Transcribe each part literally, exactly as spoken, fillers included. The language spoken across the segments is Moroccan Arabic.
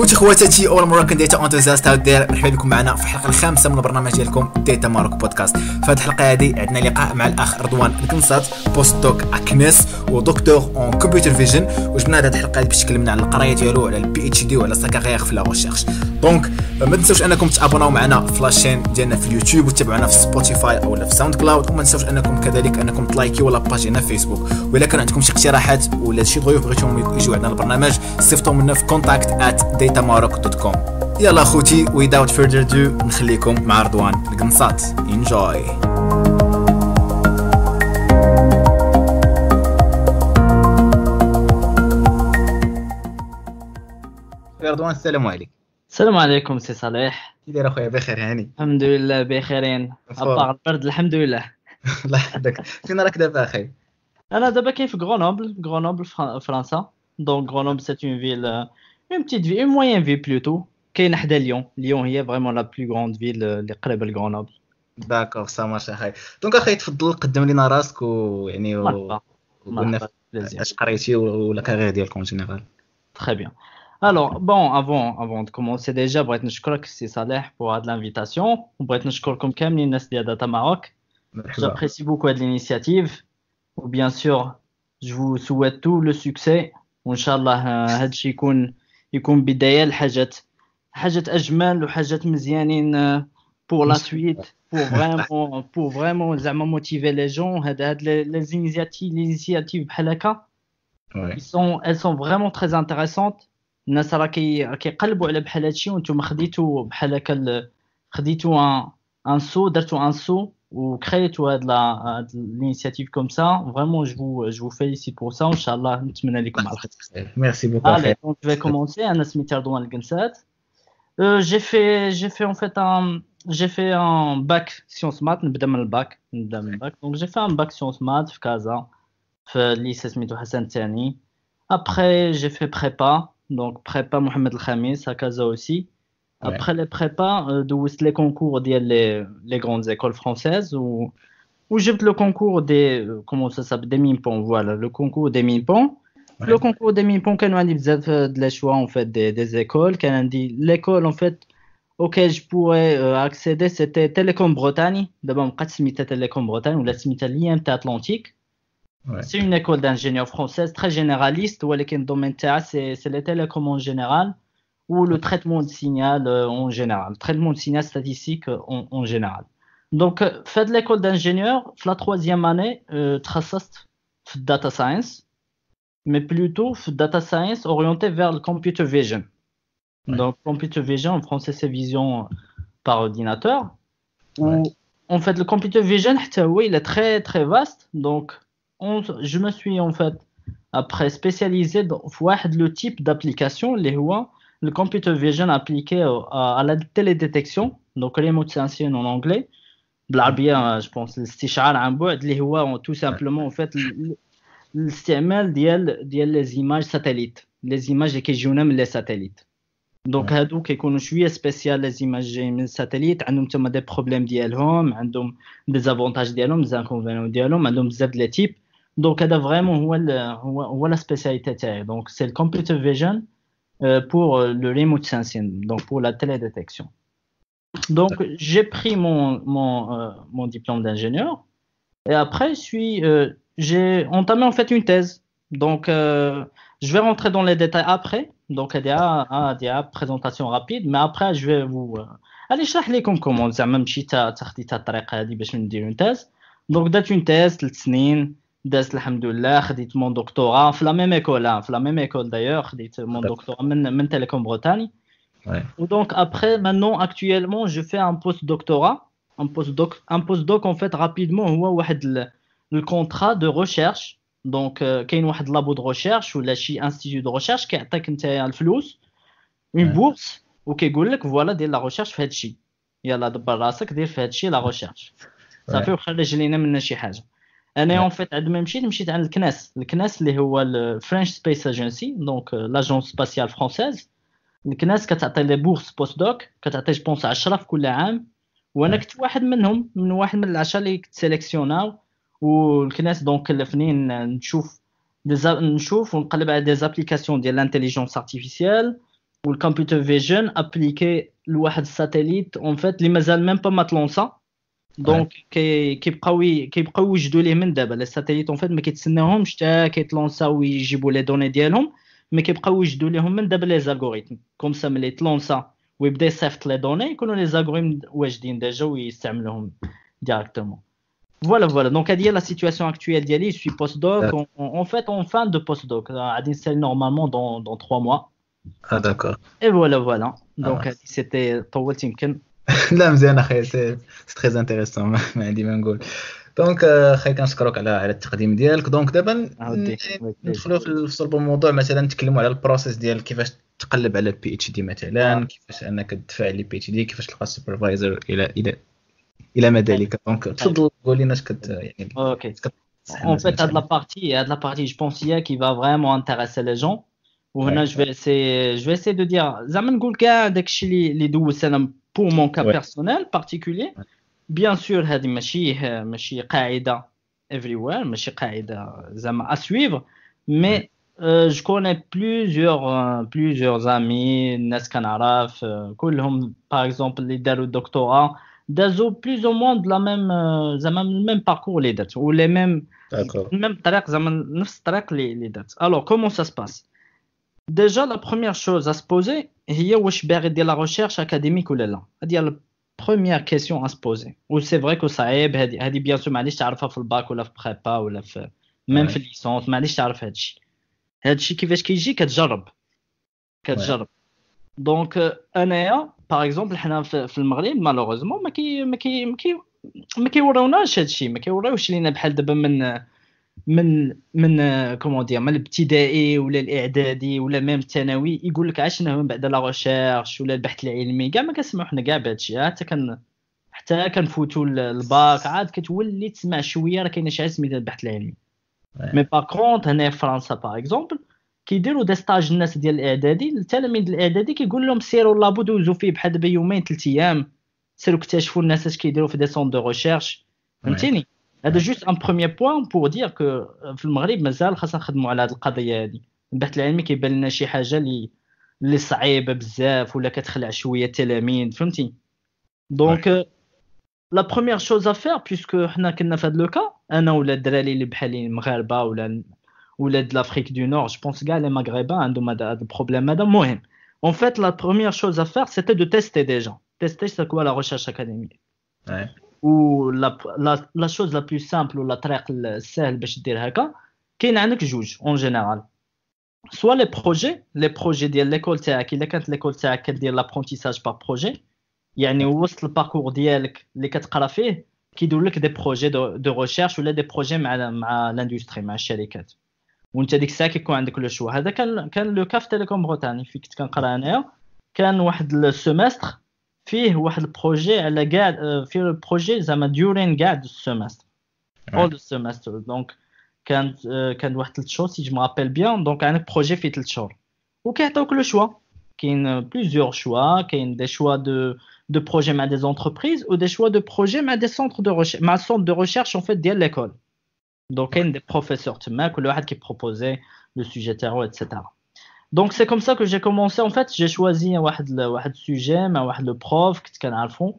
خوتي خواتاتي all Moroccan data enthusiasts out there، مرحبا بكم معنا في الحلقة الخامسة من البرنامج ديالكم Data Maroc Podcast. في هذه الحلقة هذه عندنا لقاء مع الاخ رضوان الكنصات، post-doc à CNES و docteur en computer vision، وجبنا هذه الحلقة باش تكلمنا على القراية ديالو، على ال PhD وعلى sa carrière في la recherche. donc ما تنساوش انكم تابوناو معنا في la chaîne ديالنا في اليوتيوب وتتابعونا في Spotify او في SoundCloud، وما تنساوش انكم كذلك انكم تلايكيو la page ديالنا في فيسبوك. وإلا كان عندكم شي اقتراحات ولا شي ضيوف بغيتوهم يجيو عندنا البرنامج، صيفطوهم لنا في contact at datamaroc dot com. يلا خوتي without further ado نخليكم مع رضوان القنصات. Enjoy. رضوان السلام عليك. السلام عليكم سي صالح، كي داير اخويا؟ بخير هاني الحمد لله، بخيرين à part البرد الحمد لله. الله يحفظك. فين راك دابا اخي؟ انا دابا كاين في غرونوبل، غرونوبل فرنسا. donc Grenoble c'est une ville، une petite ville، une moyenne ville plutôt، كاين حدا ليون. ليون هي vraiment la plus grande ville اللي قريبه لغرونوبل. d'accord ça marche اخي. donc اخي تفضل قدم لنا راسك ويعني وقلنا اش قريتي ولا carrière ديالك en général. Très bien. Alors, bon, avant, avant de commencer déjà, بغيت نشكرك سي صالح pour هاد l'invitation، وبغيت نشكركم كاملين الناس ديال Data Maroc. J'apprécie beaucoup هاد l'initiative، و bien sûr je vous souhaite tout le succès، وان شاء الله هادشي يكون يكون بداية لحاجات حاجات اجمل وحاجات مزيانين pour la suite، pour vraiment pour vraiment زعما motiver les gens. هاد هاد les initiatives les initiatives بحال هكا sont elles sont vraiment très intéressantes. الناس راه كيقلبوا على بحال هادشي، وانتم خديتو بحال هكا، خديتو un un saut، درتو un saut وكريتو هاد la l'initiative comme ça. Vraiment je vous je vous félicite pour ça، وان شاء الله نتمنى لكم على الخير. Merci beaucoup. Allez, donc je vais commencer. انا سميتي رضوان الكنسات. J'ai fait j'ai fait en fait un j'ai fait un bac sciences maths. نبدا من الباك نبدا من ال bac. Donc j'ai fait un bac sciences maths في كازا، في lycée سميتو حسن الثاني. Après j'ai fait prépa, donc prépa Mohamed El Khamis à Casa aussi. Ouais. Après les prépas, euh, دوزت les concours ديال les, les grandes écoles françaises où, où j'ai le concours des, comment ça s'appelle, des MINPON, voilà, le concours des MINPON. Ouais. Le concours des MINPON, كانوا عندي بزاف de les choix en fait des, des écoles. كان عندي l'école en fait auquel je pourrais euh, accéder, c'était Télécom Bretagne. D'abord, بقات سميتها Télécom Bretagne ou la سميتها l'I M T Atlantique. Ouais. C'est une école d'ingénieurs française très généraliste, où le domaine c'est c'est les télécoms en général ou le traitement de signal en général, traitement de signal statistique en, en général. Donc, fait de l'école d'ingénieurs, la troisième année, euh, تخصصت في data science, mais plutôt في data science orienté vers le computer vision. Ouais. Donc, computer vision en français c'est vision par ordinateur. Où, ouais. En fait, le computer vision, oui, il est très très vaste. Donc, On, je me suis en fait après spécialisé dans le type d'application اللي هو le computer vision appliqué à, à la télédétection, donc remote sensing en anglais, بالعربية je pense الاستشعار عن بعد، اللي هو tout simplement en fait الاستعمال ديال ديال les images satellites, les images اللي كيجيونا من les satellites. Donc هادو كيكونوا شوية spécial les images جايين من ال satellite، عندهم تما des problèmes ديالهم، عندهم des avantages ديالهم، des inconvénients ديالهم، عندهم بزاف les types. Donc هذا vraiment هو هو هو la spécialité تاعي. Donc c'est ال computer vision pour le remote sensing, donc pour la télédétection. Donc j'ai pris mon mon euh, mon diplôme d'ingénieur et après je suis euh, j'ai entamé en fait une thèse. Donc euh, je vais rentrer dans les détails après. Donc il y a il y a présentation rapide, mais après je vais vous allez نشرح لكم comment زعما مشيت خديت الطريقة هذه باش ندير une thèse. Donc درت une thèse ثلاث سنين دازت الحمد لله. خديت mon doctorat في la même école، في la même école d'ailleurs، خديت mon doctorat من من Télécom Bretagne. و donc après maintenant actuellement je fais un post-doctorat, un post-doc, un post-doc en fait rapidement هو واحد ال contrat de recherche. Donc كاين واحد labo de recherche ولا شي institut de recherche كيعطيك نتايا الفلوس، une bourse، وكيقول لك voilà دير la recherche في هادشي، يلا دبر راسك دير في هادشي la recherche صافي، وخرج لينا منا شي حاجة. انا en fait عند ما مشيت مشيت عند ال CNES، ال CNES اللي هو ال French Space Agency, donc l'agence spatiale française. ال CNES كتعطي les bourses post-doc، كتعطي je pense عشرة في كل عام، وانا كنت واحد منهم، من واحد من العشرة اللي كنت سيليكسيوناو. وال CNES donc كلفني نشوف des نشوف ونقلب على des applications ديال l'intelligence artificielle وال computer vision appliqué لواحد ال satellite en fait اللي مازال même pas ما تلونسا. donc كيبقاو كيبقاو يوجدوا ليه من دابا les satellites en fait ما كيتسناوهمش حتى كيتلونساو ويجيبوا les données ديالهم، mais كيبقاو يوجدوا ليهم من دابا les algorithmes comme ça ملي تلونسا ويبدا يصيفط les données يكونوا les algorithmes واجدين déjà ويستعملوهم directement. Voilà, voilà. Donc, à dire la situation actuelle ديالي, je suis postdoc. En, en fait, en fin de postdoc. غادي نسالي normalement dans, dans trois mois. Ah, d'accord. Et voilà, voilà. Donc, ah. c'était طولت يمكن. لا مزيان اخي، c'est très intéressant، ما عندي ما نقول. donc اخي كنشكرك على على التقديم ديالك. donc دابا ندخلوا في صلب الموضوع، مثلا نتكلموا على ال process ديال كيفاش تقلب على PhD مثلا، كيفاش انك تدفع les PhD، كيفاش تلقى ال supervisor الى الى الى ما ذلك. donc تفضل قول لنا اش كت يعني. OK En fait, هاد la partie, هاد la partie, je pense هي qui va vraiment intéresser les gens. وهنا je vais essayer, je vais essayer de dire زعما نقول كاع داكشي اللي اللي دوزت انا pour mon cas personnel particulier. Bien sûr هذه ماشي ماشي قاعدة everywhere، ماشي قاعدة زعما à suivre, mais je connais plusieurs plusieurs amis، الناس كنعرف كلهم par exemple اللي داروا الدكتوراه دازو plus ou moins de la même زعما ال même parcours اللي درت و les mêmes même طريق زعما نفس الطريق اللي اللي درت. Alors comment ça se passe؟ Déjà la première chose à se poser هي واش باغي دير la recherche académique ولا لا. هذه هي première question à se poser. و c'est vrai que صعيب هادي هادي bien sûr معليش تعرفها في الباك ولا في prépa ولا في même في ال licence، معليش تعرف هادشي. هادشي كيفاش كيجي؟ كتجرب كتجرب. donc انايا par exemple حنا في المغرب malheureusement ما كي ما كي ما كي ما كيوروناش هادشي، ما كيوريوش لينا بحال دابا من من من comment dire من الابتدائي ولا الاعدادي ولا même الثانوي يقول لك علاش من بعد la recherche ولا البحث العلمي كاع ما كنسمعوا حنا كاع بهادشي. حتى كان حتى كنفوتوا الباك عاد كتولي تسمع شوية راه كاينه شي حاجة سميتها البحث العلمي. mais par contre هنا في فرنسا par exemple كيديروا des stages الناس ديال الاعدادي، التلاميذ الاعدادي كيقول لهم سيروا labo دوزو فيه بحال دابا يومين ثلاث ايام، سيروا اكتشفوا الناس اش كيديروا في des centres de recherche، فهمتيني؟ هذا juste un premier point pour dire que في المغرب مازال خاصنا نخدموا على هذه القضية هذه. البحث العلمي كيبان لنا شي حاجة اللي اللي صعيبة بزاف ولا كتخلع شوية التلاميذ، فهمتي؟ donc la première chose à faire puisque حنا كنا في هذا le cas، انا ولا الدراري اللي بحالي المغاربة ولا ولا l'Afrique du Nord، je pense كاع les Maghrébins عندهم هذا ال problème هذا. المهم en fait la première chose à faire c'était de tester déjà, tester c'est quoi la recherche académique. و la la chose la plus simple ولا الطريق السهل باش دير هكا، كاين عندك جوج en général، soit les projets les projets ديال l'école تاعك. الا كانت l'école تاعك كدير l'apprentissage par projet، يعني وسط ال parcours ديالك اللي كتقرا فيه كيديروا لك des projets de recherche ولا des projets مع مع l'industrie مع الشركات، وانت ديك الساعة كيكون عندك le choix. هذا كان كان le cas في Télécom Bretagne في كنت كنقرا انايا، كان واحد ال semestre فيه واحد ال projet على كاع، فيه ال projet زعما durant كاع ال semestre، all ال semestre. donc كانت كان واحد ثلاث شهور si je me rappelle bien. donc عندك projet فيه ثلاث شهور وكيعطيوك le choix، كاين plusieurs choix، كاين des choix de de projets مع des entreprises و des choix de projets مع des centres de recherche، مع centre de recherche en fait ديال l'école. donc كاين des professeurs تما كل واحد كي proposer le sujet تاعو et cetera. Donc c'est comme ça que j'ai commencé en fait, j'ai choisi واحد واحد sujet مع واحد le prof كنت كنعرفو،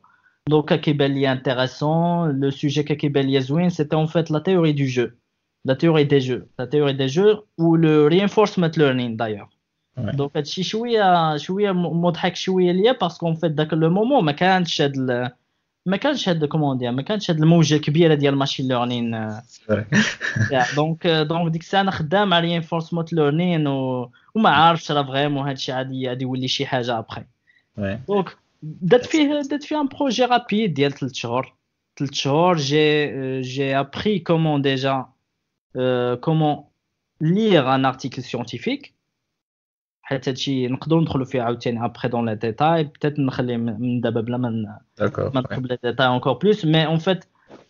donc كيبان لي intéressant le sujet كيبان لي زوين، c'était en fait la théorie du jeu, la théorie des jeux, la théorie des jeux ou le reinforcement learning d'ailleurs. Donc هادشي شوية شوية مضحك شوية ليا parce qu'en fait داك le moment ما كانش هاد ما كانش هاد comment dire ما كانش هاد الموجه الكبيرة ديال machine learning. donc donc ديك الساعة انا خدام على reinforcement learning وما عارفش راه vraiment هادشي غادي غادي يولي شي حاجة après. donc درت فيه درت فيه un projet rapide ديال ثلاث شهور ثلاث شهور j'ai j'ai appris comment déjà comment lire un article scientifique، حيت هادشي نقدروا ندخلوا فيه عاوتاني après dans les détails، peut-être نخلي من دابا بلا ما ما ندخل les détails encore plus. Mais en fait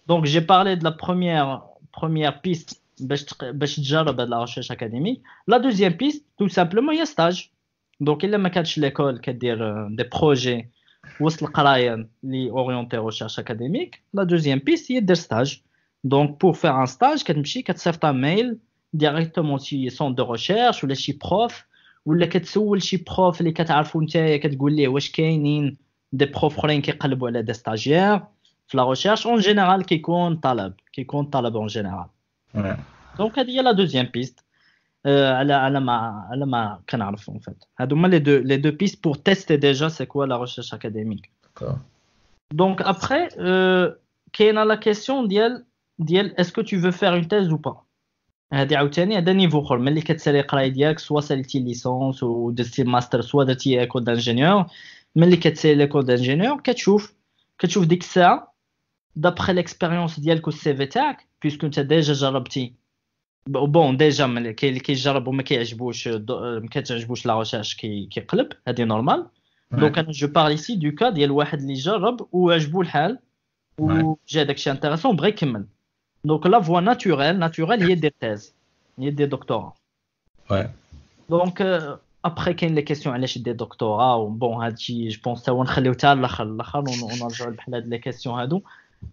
donc j'ai parlé de la première première piste باش باش تجرب هاد la recherche académique. La deuxième piste tout simplement هي stage. Donc الا ما كانتش l'école كدير des projets وسط القراية اللي orientés recherche académique، la deuxième piste هي دير stage. Donc pour faire un stage كتمشي كتصيفط mail directement شي centre de recherche ولا شي prof ولا كتسول شي prof اللي كتعرفو نتايا، كتقول ليه واش كاينين des profs اخرين كيقلبوا على des stagiaires في la recherche. en général كيكون طلب، كيكون طلب en général. donc هذه هي la deuxième piste على على ما على ما كنعرف. en fait هادو هما les deux les deux pistes pour tester déjà c'est quoi la recherche académique. donc après كاينه la question ديال ديال est-ce que tu veux faire une thèse ou pas. هادي عاوتاني هذا niveau اخر. ملي كتسالي القراية ديالك، soit ساليتي licence ودرتي master، soit درتي école d'ingénieur، ملي كتسالي l'école d'ingénieur كتشوف كتشوف ديك الساعة d'après l'expérience ديالك وال CV تاعك، puisque انت déjà جربتي. bon déjà ملي كاين اللي كيجرب وما كيعجبوش، ما كتعجبوش la recherche، كيقلب، هادي normal. donc انا je parle ici du cas ديال واحد اللي جرب وعجبو الحال وجا داكشي intéressant، بغى يكمل. donc la voie naturelle naturelle هي دير thèse، هي دير دكتوراه. donc après كاين les questions علاش دير دكتوراه. bon هادشي je pense تا هو نخليو حتى الاخر الاخر ونرجعو بحال هاد les questions هادو.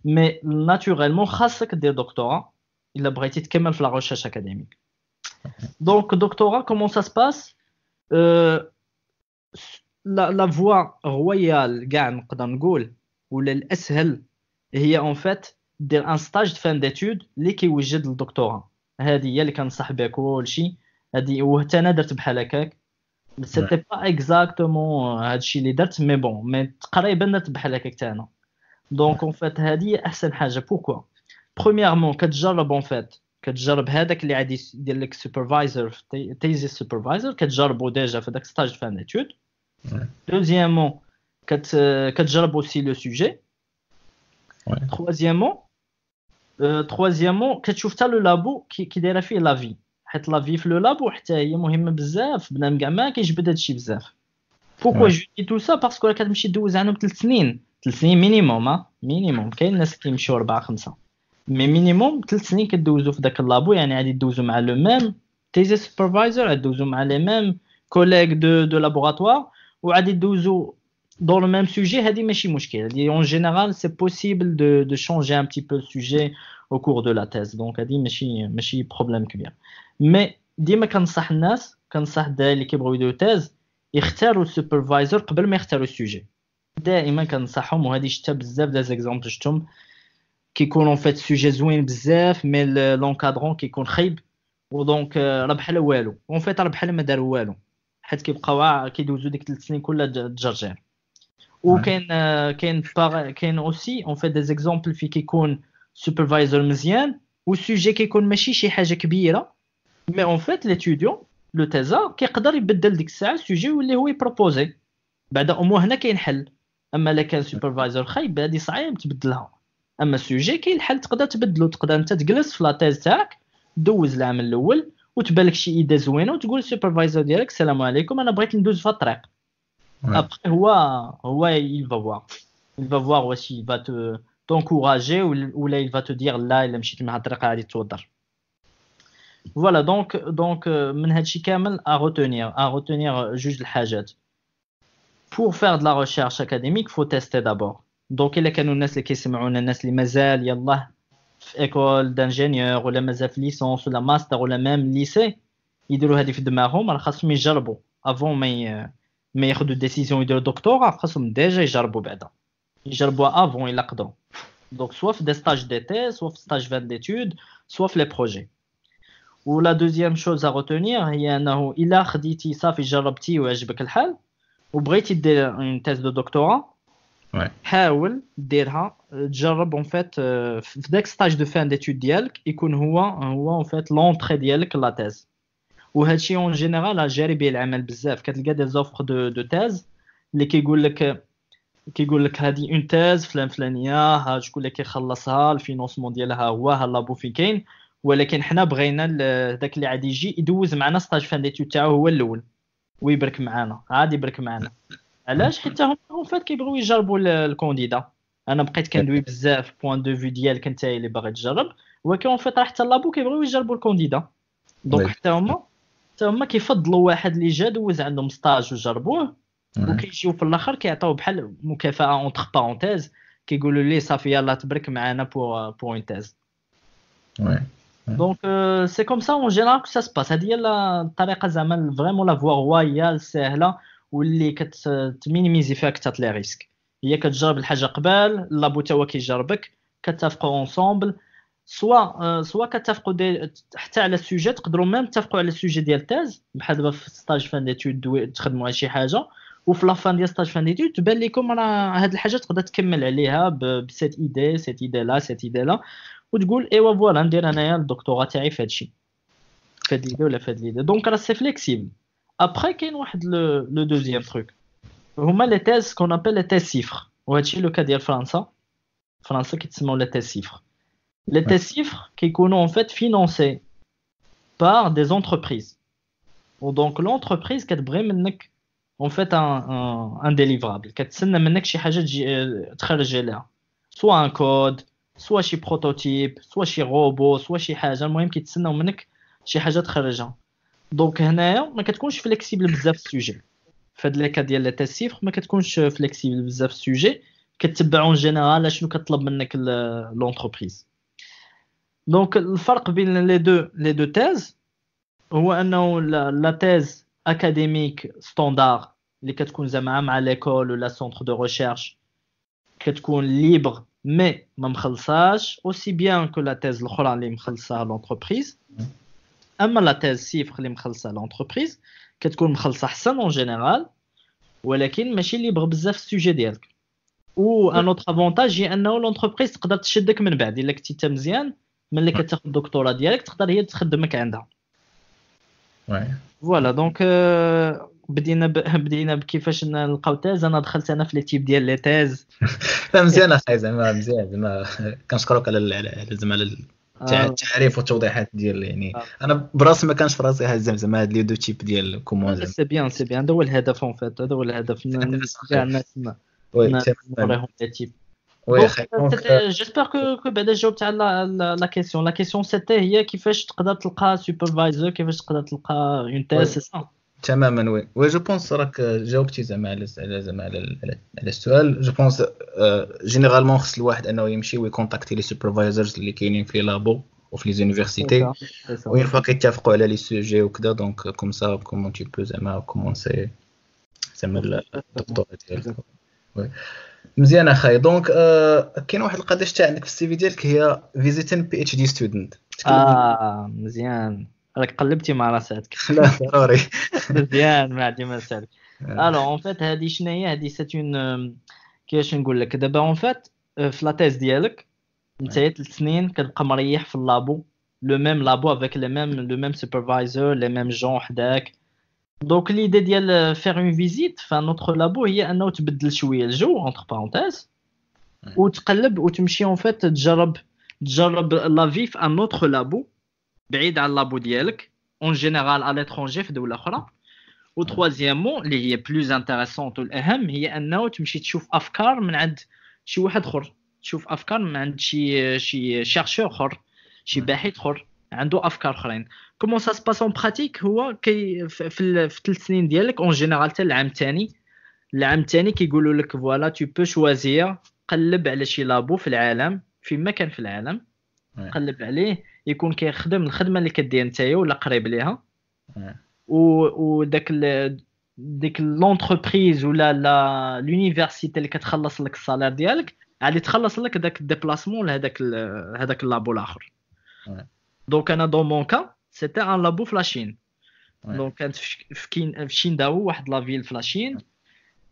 mais naturellement خاصك دير دكتوراه الا بغيتي تكمل في la recherche académique. donc doctorat comment ça se passe؟ la la voie royale كاع نقدر نقول، ولا الاسهل، هي en fait دير un stage de fin d'études اللي كيوجد للدكتوراه. هذه هي اللي كنصح بها كلشي هذه، وحتى انا درت بحال هكاك. c'était pas exactement هادشي اللي درت، mais bon، mais تقريبا درت بحال هكاك حتى انا. donc en fait هذه احسن حاجه. pourquoi؟ premièrement كتجرب en fait كتجرب هذاك اللي غادي يدير لك supervisor، thesis supervisor، كتجربو déjà في داك stage fin d'études. deuxièmement كتجرب aussi le sujet. troisièmement troisièmement كتشوف حتى le labo كي دايرة فيه la vie، حيت la vie في le labo حتى هي مهمة بزاف. بنادم كاع ما كيجبد هادشي بزاف. pourquoi je dis tout ça؟ parce que كتمشي دوز عندهم ثلاث سنين، ثلاث سنين minimum minimum. كاين الناس كيمشيو اربعة خمسه، mais minimum ثلاث سنين كدوزو في داك ال labo. يعني غادي دوزو مع le même thesis supervisor، غادي دوزو مع les mêmes collègues de de laboratoire، وغادي دوزو dans le même sujet. هذه ماشي مشكل هذه، en général c'est possible de de changer un petit peu le sujet au cours de la thèse، donc هذه ماشي ماشي problème كبير. mais ديما كنصح الناس، كنصح الدراري اللي كيبغيو يديروا thèse يختاروا ال supervisor قبل ما يختاروا ال sujet. دائما كنصحهم، وهذه شتا بزاف des exemples شفتهم، كيكونوا en fait sujet زوين بزاف mais l'encadrant كيكون خايب، و donc راه بحال والو، en fait راه بحال ما داروا والو، حيت كيبقاو كيدوزو ديك ثلاث سنين كلها تجرجير. وكاين كاين كاين aussi en fait des exemples في كيكون supervisor مزيان وال sujet كيكون ماشي شي حاجة كبيره، mais en fait l'étudiant، le thésard، كيقدر يبدل ديك الساعة ال sujet واللي هو ي proposer بعدا، au moins هنا كاين حل. اما الا كان supervisor خايب هادي صعيب تبدلها. اما ال sujet كاين الحل، تقدر تبدلو، تقدر انت تجلس في la thèse تاعك، دوز العام الاول وتبان لك شي idée زوينة وتقول لل supervisor ديالك السلام عليكم، انا بغيت ندوز في الطريق. après هو هو il va voir il va voir واش il va te t'encourager ولا il va te dire لا، الا مشيت مع الطريقة غادي توضر. voilà. donc donc من هادشي كامل à retenir à retenir جوج الحاجات: pour faire de la recherche académique faut tester d'abord. donc الا كانوا الناس اللي كيسمعونا، الناس اللي مازال يلاه في école d'ingénieur ولا مازال في licence ولا ماستر ولا même lycée، يديروا هذه في دماغهم، راه خاصهم يجربوا avant ما ما ياخذوا décision يديروا دكتوراه. خاصهم déjà يجربوا بعدا، يجربوها avant الا قدروا، donc soit في des stages d'été، soit في stage fin d'études، soit في les projets. و la deuxième chose à retenir هي انه الا خديتي صافي جربتي وعجبك الحال وبغيتي دير une thèse de doctorat، حاول ديرها، تجرب en fait في داك stage de fin d'études ديالك، يكون هو هو en fait l'entrée ديالك la thèse. وهذا الشيء en général جاري به العمل بزاف. كتلقى des offres de de thèse اللي كيقول لك كيقول لك هذه une thèse فلان فلانيه، ها شكون اللي كيخلصها، ال financement ديالها هو ها labo فين كاين، ولكن حنا بغينا داك اللي غادي يجي يدوز معنا stage fin d'études تاعو هو الاول ويبرك معنا، عادي يبرك معنا. علاش؟ حيت هما en fait كيبغيو يجربوا ال candidat. انا بقيت كندوي بزاف point de vue ديالك انت اللي باغي تجرب، ولكن en fait راه حتى labo كيبغيو يجربوا ال candidat. donc حتى هما حتى هما كيفضلوا واحد اللي جا دوز عندهم stage وجربوه، وكيجيو في الاخر كيعطيو بحال مكافاة entre parenthèses، كيقولوا ليه صافي يلاه تبرك معنا pour pour une thèse. oui. donc c'est comme ça en général que ça se passe. هذه هي الطريقة زعما vraiment la voie royale الساهله واللي كت minimiser فيها اكثر les risques. هي كتجرب الحاجة قبل، labo تا هو كيجربك، كتفقوا ensemble، soit soit كتفقوا حتى على ال sujet، تقدروا même تتفقوا على ال sujet ديال thèse، بحال دابا في stage fin d'études تخدموا على شي حاجة، وفي la fin ديال stage fin d'études تبان لكم راه هاد الحاجة تقدر تكمل عليها ب cette idée، cette idée-là، cette idée-là، وتقول ايوا voilà ندير انايا الدكتوراه تاعي في هادشي، في هاد l'idée ولا في هاد l'idée. donc راه c'est flexible. après كاين واحد le deuxième truc، هما les thèses qu'on appelle les thèses CIFRE، وهادشي le cas ديال فرنسا. فرنسا كيتسموا les thèses CIFRE. les thèses CIFRE كيكونوا en fait financées par des entreprises، و donc l'entreprise كتبغي منك en fait un un délivrable، كتسنى منك شي حاجة تجي تخرج عليها، soit un code، soit شي prototype، soit شي robot، soit شي حاجه. المهم كيتسناو منك شي حاجة تخرجها. donc هنايا ما كتكونش flexible بزاف في ال sujet. في هاد les cas ديال les thèses CIFRE ما كتكونش flexible بزاف في ال sujet، كتبع en général شنو كطلب منك l'entreprise. donc الفرق بين les deux les deux thèses هو انه la thèse académique standard اللي كتكون زعما مع l'école ولا centre de recherche كتكون libre mais ما مخلصاش aussi bien que la thèse الاخرى اللي مخلصها l'entreprise. اما la thèse CIFRE اللي مخلصها l'entreprise كتكون مخلصة احسن en général، ولكن ماشي libre بزاف ال sujet ديالك. و un autre avantage هي انه l'entreprise تقدر تشدك من بعد الا كنتي انت مزيان، ملي كتاخذ الدكتوراه ديالك تقدر هي تخدمك عندها. voilà donc بدينا ب... بدينا بكيفاش نلقاو thèse. انا دخلت انا في les types ديال les thèses. لا مزيان اخاي، زعما مزيان، زعما كنشكرك على على زعما على التعريف والتوضيحات ديال يعني آه. انا براسي ما كانش في راسي هاد زعما هاد les deux types ديال comment. c'est bien، c'est bien، هذا هو الهدف en fait، هذا هو الهدف، كاع الناس نوريهم les types. oui. j'espère que que بعدا جاوبت على la question. la question c'était هي كيفاش تقدر تلقى superviseur، كيفاش تقدر تلقى une thèse، c'est ça؟ تماما oui oui je pense راك جاوبتي زعما على زعما على على السؤال. je pense généralement خص الواحد انه يمشي وي contacter les supervisors اللي كاينين في labo وفي les universités، و une fois كيتفقوا على les sujets وكذا، donc comme ça comment tu peux زعما commencer زعما الدكتوراه ديالك. oui مزيان اخاي. donc آه كاين واحد القضية شتا عندك في ال CV ديالك هي visiting PhD student. اه مزيان، راك قلبتي مع راسك. لا ضروري. مزيان، ما عندي ما نسالك. alors en fait هادي شنو هي هادي؟ c'est une، كيفاش نقول لك دابا، en fait في la thèse ديالك انت ثلاث سنين كتبقى مريح في ال labo، le même labo avec les mêmes le même superviseur، les mêmes gens حداك. donc l'idée ديال faire une visite في un autre labo هي انه تبدل شوية الجو entre parenthèses، وتقلب وتمشي en fait تجرب تجرب la vie في un autre labo بعيد على ال labo ديالك، en général à l'étranger في دولة اخرى. و troisièmement اللي هي plus intéressante والاهم هي انه تمشي تشوف افكار من عند شي واحد اخر، تشوف افكار من عند شي شي chercheur اخر، شي باحث اخر عنده افكار اخرين. comment ça se passe en pratique؟ هو كي في, في ثلاث سنين ديالك en général حتى العام الثاني، العام الثاني كيقولوا لك voilà tu peux choisir، قلب على شي labo في العالم، فيما كان في العالم قلب عليه يكون كيخدم الخدمة اللي كدير نتايا ولا قريب ليها، و وداك ديك l'entreprise ولا la l'université اللي كتخلص لك ال salaire ديالك غادي تخلص لك داك ال déplacement لهذاك هذاك ال labo الاخر. donc انا dans mon cas c'était un labo في la Chine. donc كانت في كين في شينداو، واحد la ville في la Chine.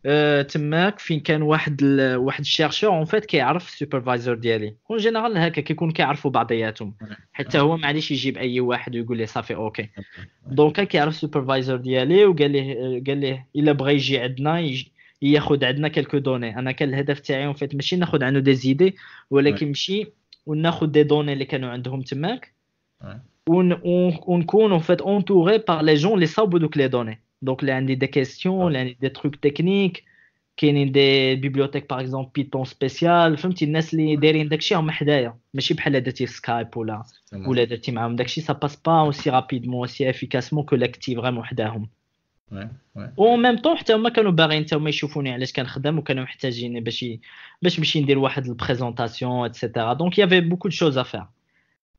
أه تماك فين كان واحد ال... واحد ال chercheur en fait كيعرف ال superviseur ديالي. en général هكا كيكون كيعرفوا بعضياتهم، حتى هو معليش يجيب اي واحد ويقول لي صافي OK. donc كان كيعرف ال superviseur ديالي وقال ليه قال ليه الا بغى يجي عندنا يجي ياخذ عندنا quelques données. انا كان الهدف تاعي en fait ماشي ناخذ عنده des idées، ولكن نمشي وناخذ des données اللي كانوا عندهم تماك، ونكون en fait entouré par les gens اللي صاوبوا دوك les données. donc اللي عندي des questions، اللي عندي des trucs techniques، كاينين des bibliothèques par exemple Python spéciales، فهمتي؟ الناس اللي دايرين داكشي هما حدايا، ماشي بحال درتي في Skype ولا ولا درتي معاهم داكشي ça passe pas aussi rapidement، aussi efficacement que لاكتي vraiment حداهم. و même temps حتى هما كانوا باغيين حتى هما يشوفوني علاش كنخدم، وكانوا محتاجين باش باش نمشي ندير واحد ال présentation et cetera. donc y avait beaucoup de choses à faire.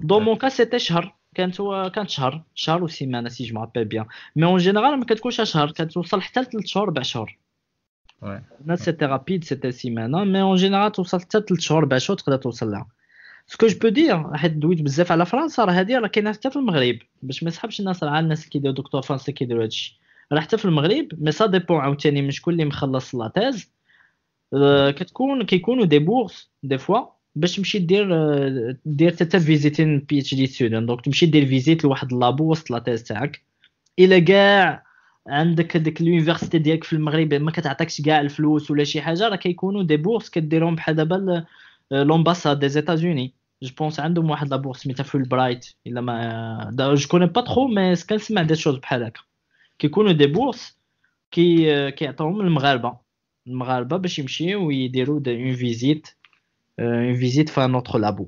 Dans mon cas c'était شهر، كانت هو كانت شهر شهر وسيمانه si je me rappelle bien، mais en général ما كتكونش شهر، كتوصل حتى لثلاث شهور اربع شهور. انا c'était rapide، c'était سيمانه، mais en général توصل حتى ثلاث شهور اربع شهور تقدر توصل لها. Ce que je peux dire، حيت دويت بزاف على فرنسا، راه هادي راه كاينه حتى في المغرب، باش ما يسحبش الناس راه الناس اللي كيديروا دكتور فرنسا كيديروا هادشي، راه حتى في المغرب، mais ça dépend عاوتاني من شكون اللي مخلص la thèse. كتكون كيكونوا des bourses des fois باش تمشي دير دير حتى visiting PhD student، donc تمشي دير visite لواحد labo وسط la thèse تاعك. الا كاع عندك ديك l'université ديالك في المغرب ما كتعطيكش كاع الفلوس ولا شي حاجه، راه كيكونوا des bourses كديرهم بحال دابا l'ambassade des États-Unis، je pense عندهم واحد la bourse سميتها فول برايت، الا ما je connais pas trop، mais كنسمع des choses بحال هكا، كيكونوا des bourses كي كيعطيوهم المغاربه المغاربه باش يمشيو ويديروا une visite une visite في un autre labo.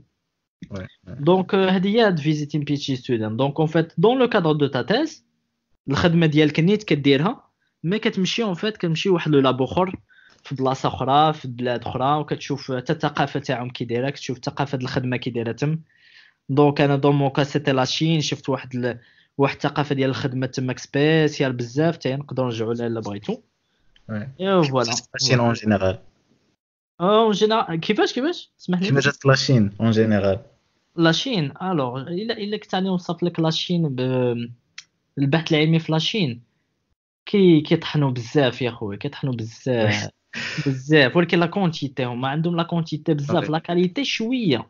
Donc هذه هي هاد visiting PhD student. Donc en fait dans le cadre de ta thèse، الخدمة ديالك نيت كديرها، mais كتمشي en fait كتمشي واحد le labo اخر في بلاصة اخرى في بلاد اخرى، وكتشوف حتى الثقافة تاعهم كي دايره، كتشوف ثقافة الخدمة كي دايرة تم. Donc انا dans mon cas c'était la Chine، شفت واحد ال... واحد الثقافة ديال الخدمة تماك spéciale بزاف، حتى نقدروا نرجعوا لها الا بغيتو. Et voilà la Chine en général. En général كيفاش كيفاش اسمح لي؟ كيفاش جات la Chine en général؟ La Chine، alors الا الا كنت غادي نوصف لك la Chine، ب... البحث العلمي في la Chine كي كيطحنوا بزاف يا خويا، كيطحنوا بزاف بزاف، ولكن la quantité، هما عندهم la quantité بزاف، la qualité شوية،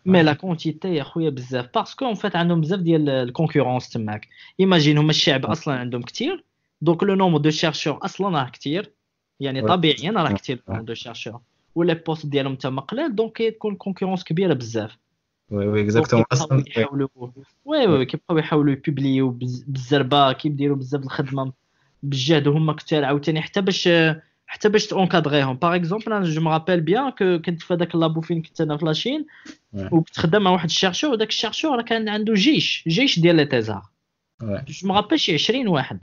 mais la quantité يا خويا بزاف، parce que en fait عندهم بزاف ديال ال concurrence تماك. Imagine هما الشعب اصلا عندهم كثير، donc le nombre de chercheurs اصلا راه كثير، يعني طبيعيا راه كثير nombre de chercheurs، و les postes ديالهم تما قلال، donc كتكون concurrence كبيرة بزاف. Oui oui exactement. اصلا يحاولوا oui oui كيبقاو يحاولوا يبوبليو بالزربه، كيديروا بزاف الخدمة بالجهد، وهما كثار عاوتاني حتى باش حتى باش تونكادريهم. Par exemple انا je me rappelle bien que كنت في هذاك ال labo فين كنت انا في la Chine، وكنت خدام مع واحد ال chercheur، وداك ال chercheur راه كان عنده جيش جيش ديال les thésards، je me rappelle شي عشرين واحد،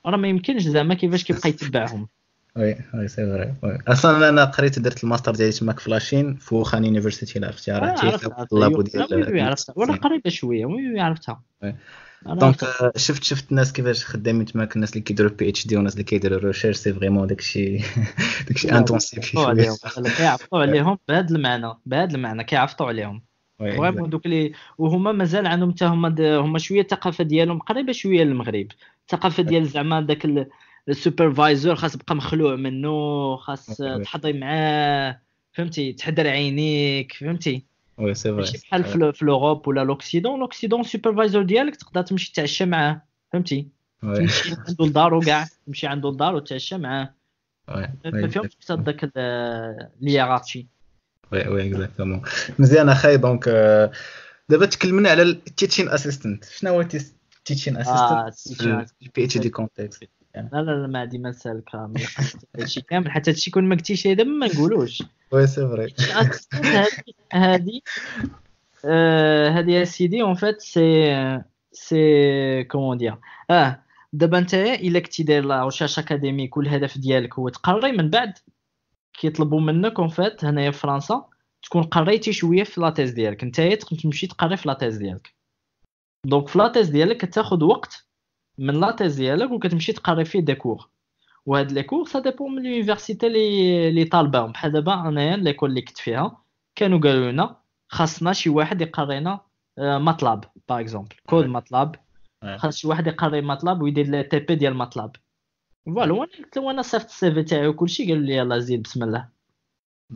راه ما يمكنش زعما كيفاش كيبقى يتبعهم. Oui oui c'est vrai. Oui اصلا انا قريت درت الماستر ديالي تماك في la Chine، في Wuhan University، عرفتي راه ال labo ديال عرفتها ولا قريبه شوية. Oui oui عرفتها. Donc شفت شفت الناس كيفاش خدامين تماك، الناس اللي كيديروا PhD والناس اللي كيديروا recherche، c'est vraiment داكشي داكشي intensif شوية. كيعفطوا عليهم بهذا المعنى، بهذا المعنى كيعفطوا عليهم vraiment دوك لي، وهما مازال عندهم حتى هما هما شوية الثقافة ديالهم قريبه شوية للمغرب، الثقافة ديال زعما داك ال superviseur خاص تبقى مخلوع منه، خاص تحضي معاه، فهمتي، تحدر عينيك، فهمتي. Oui c'est vrai. ماشي بحال في l'Europe ولا l'Occident. L'Occident superviseur ديالك تقدر تمشي تعشى معاه، فهمتي، تمشي عنده لدارو كاع، تمشي عنده لدارو وتعشى معاه، ما فيهمش حتى داك l'hiérarchie. Oui oui exactement. مزيان اخاي. Donc دابا تكلمنا على ال teaching assistant، شنو هو ال teaching assistant في ال PhD context؟ لا لا لا ما عندي ما نسالك هادشي كامل، حتى هادشي كون ما قلتيش دابا ما نقولوش. Oui c'est vrai. هادي هادي يا سيدي en fait c'est c'est comment dire، اه دابا انت الا كنتي داير la recherche académique والهدف ديالك هو تقري، من بعد كيطلبوا منك en fait هنايا في فرنسا تكون قريتي شوية في la thèse ديالك، نتايا تمشي تقري في la thèse ديالك. Donc في la thèse ديالك كتاخذ وقت من la thèse ديالك وكتمشي تقري فيه des cours، وهاد les cours ça dépend من l'université اللي اللي طالباهم. بحال دابا انايا l'école اللي كنت فيها كانوا قالوا لنا خاصنا شي واحد يقرينا MATLAB par exemple، code MATLAB، خاص شي واحد يقري MATLAB ويدير les TP ديال MATLAB. Voilà، وانا قلت له انا صيفط ال CV تاعي وكلشي، قالوا لي يلاه زيد بسم الله،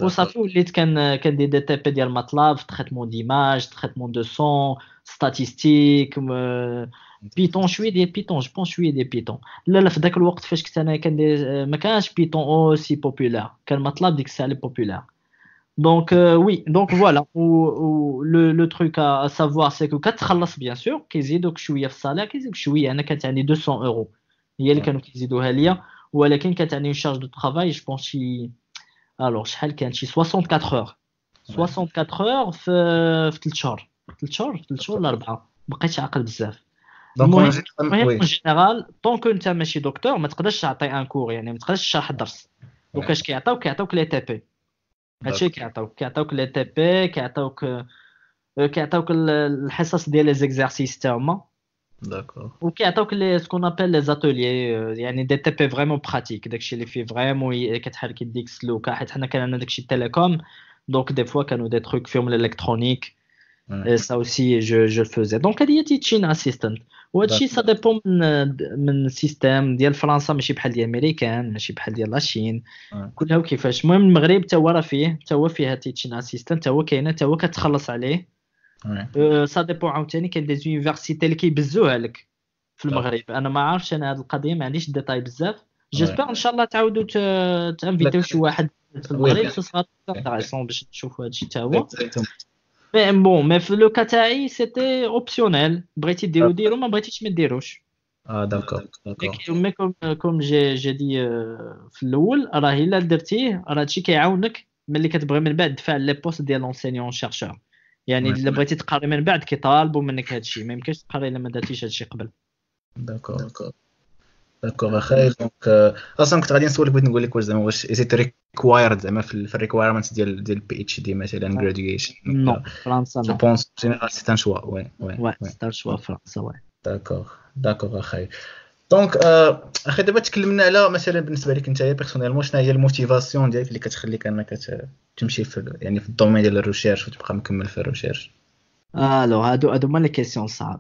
وصافي وليت كان كندير des TP ديال MATLAB، traitement d'images، traitement de son، statistique، Python، شوية ديال Python، je pense شوية ديال Python. لا لا في ذاك الوقت فاش كنت انا كندير ما كانش Python aussi populaire، كان MATLAB ديك الساعة اللي populaire. Donc oui donc voilà، و le le truc à savoir c'est que كتخلص bien sûr، كيزيدوك شوية في ال salaire، كيزيدوك شوية. انا كانت عندي مئتين اورو هي اللي كانوا كيزيدوها ليا، ولكن كانت عندي charge de travail je pense شي alors شحال كان شي أربعة وستين heures، أربعة وستين heures في في ثلاث شهور، ثلاث شهور ثلاث شهور ولا اربعة، بقيتش عاقل بزاف. Donc المهم en général tant que انت ماشي دكتور ما تقدرش تعطي un cours، يعني ما تقدرش تشرح الدرس. Donc اش كيعطيوك؟ كيعطيوك les TP، هادشي كيعطيوك، كيعطيوك les TP، كيعطيوك كيعطيوك الحصص ديال les exercices تا هما. d'accord. وكيعطيوك les ce qu'on appelle les ateliers، يعني des T P vraiment pratiques، داكشي اللي فيه vraiment كتحرك يديك سلوكه، حيت حنا كان عندنا داكشي télécom، donc des fois كانوا des trucs فيهم l'électronique، ça aussi je je faisais. donc هادي هي teaching assistant. وهادشي ça dépend من من système ديال فرنسا، ماشي بحال ديال امريكان، ماشي بحال ديال la Chine، كلها وكيفاش. المهم المغرب تا هو راه فيه، تا هو فيها teaching assistant، تا هو كاينه، تا هو كتخلص عليه. ça dépend عاوتاني، كاين des universités اللي كيبزوها لك في المغرب. انا ما عارفش انا هاد القضية، ما عنديش détails بزاف. j'espère ان شاء الله تعاودوا تانفيتيو شي واحد في المغرب، ce sera intéressant باش تشوفوا هادشي تا هو. mais bon، mais في le cas تاعي c'était optionnel، بغيتي ديرو ديرو، ما بغيتيش ما ديروش. اه d'accord d'accord. mais comme comme j'ai j'ai dit في الاول، راه الا درتيه راه هادشي كيعاونك ملي كتبغي من بعد تدفع les postes ديال l'enseignant chercheur. يعني الا بغيتي تقري من بعد كيطالبوا منك هادشي، ما يمكنش تقري الا ما درتيش هادشي قبل. d'accord d'accord اخي. donc اصلا كنت غادي نسولك، بغيت نقول لك واش زعما واش is it required زعما في ال requirements ديال ديال PhD مثلا graduation؟ non، فرنسا non، je pense général c'est un choix. oui oui oui، c'est un choix فرنسا، oui. d'accord d'accord اخي. donc اخي دابا تكلمنا على مثلا بالنسبة لك انت personnellement، شنو هي ال motivation ديالك اللي كتخليك انك تمشي في يعني في ال domaine ديال ال recherche وتبقى مكمل في ال recherche؟ alors هادو هادو هما les questions صعاب،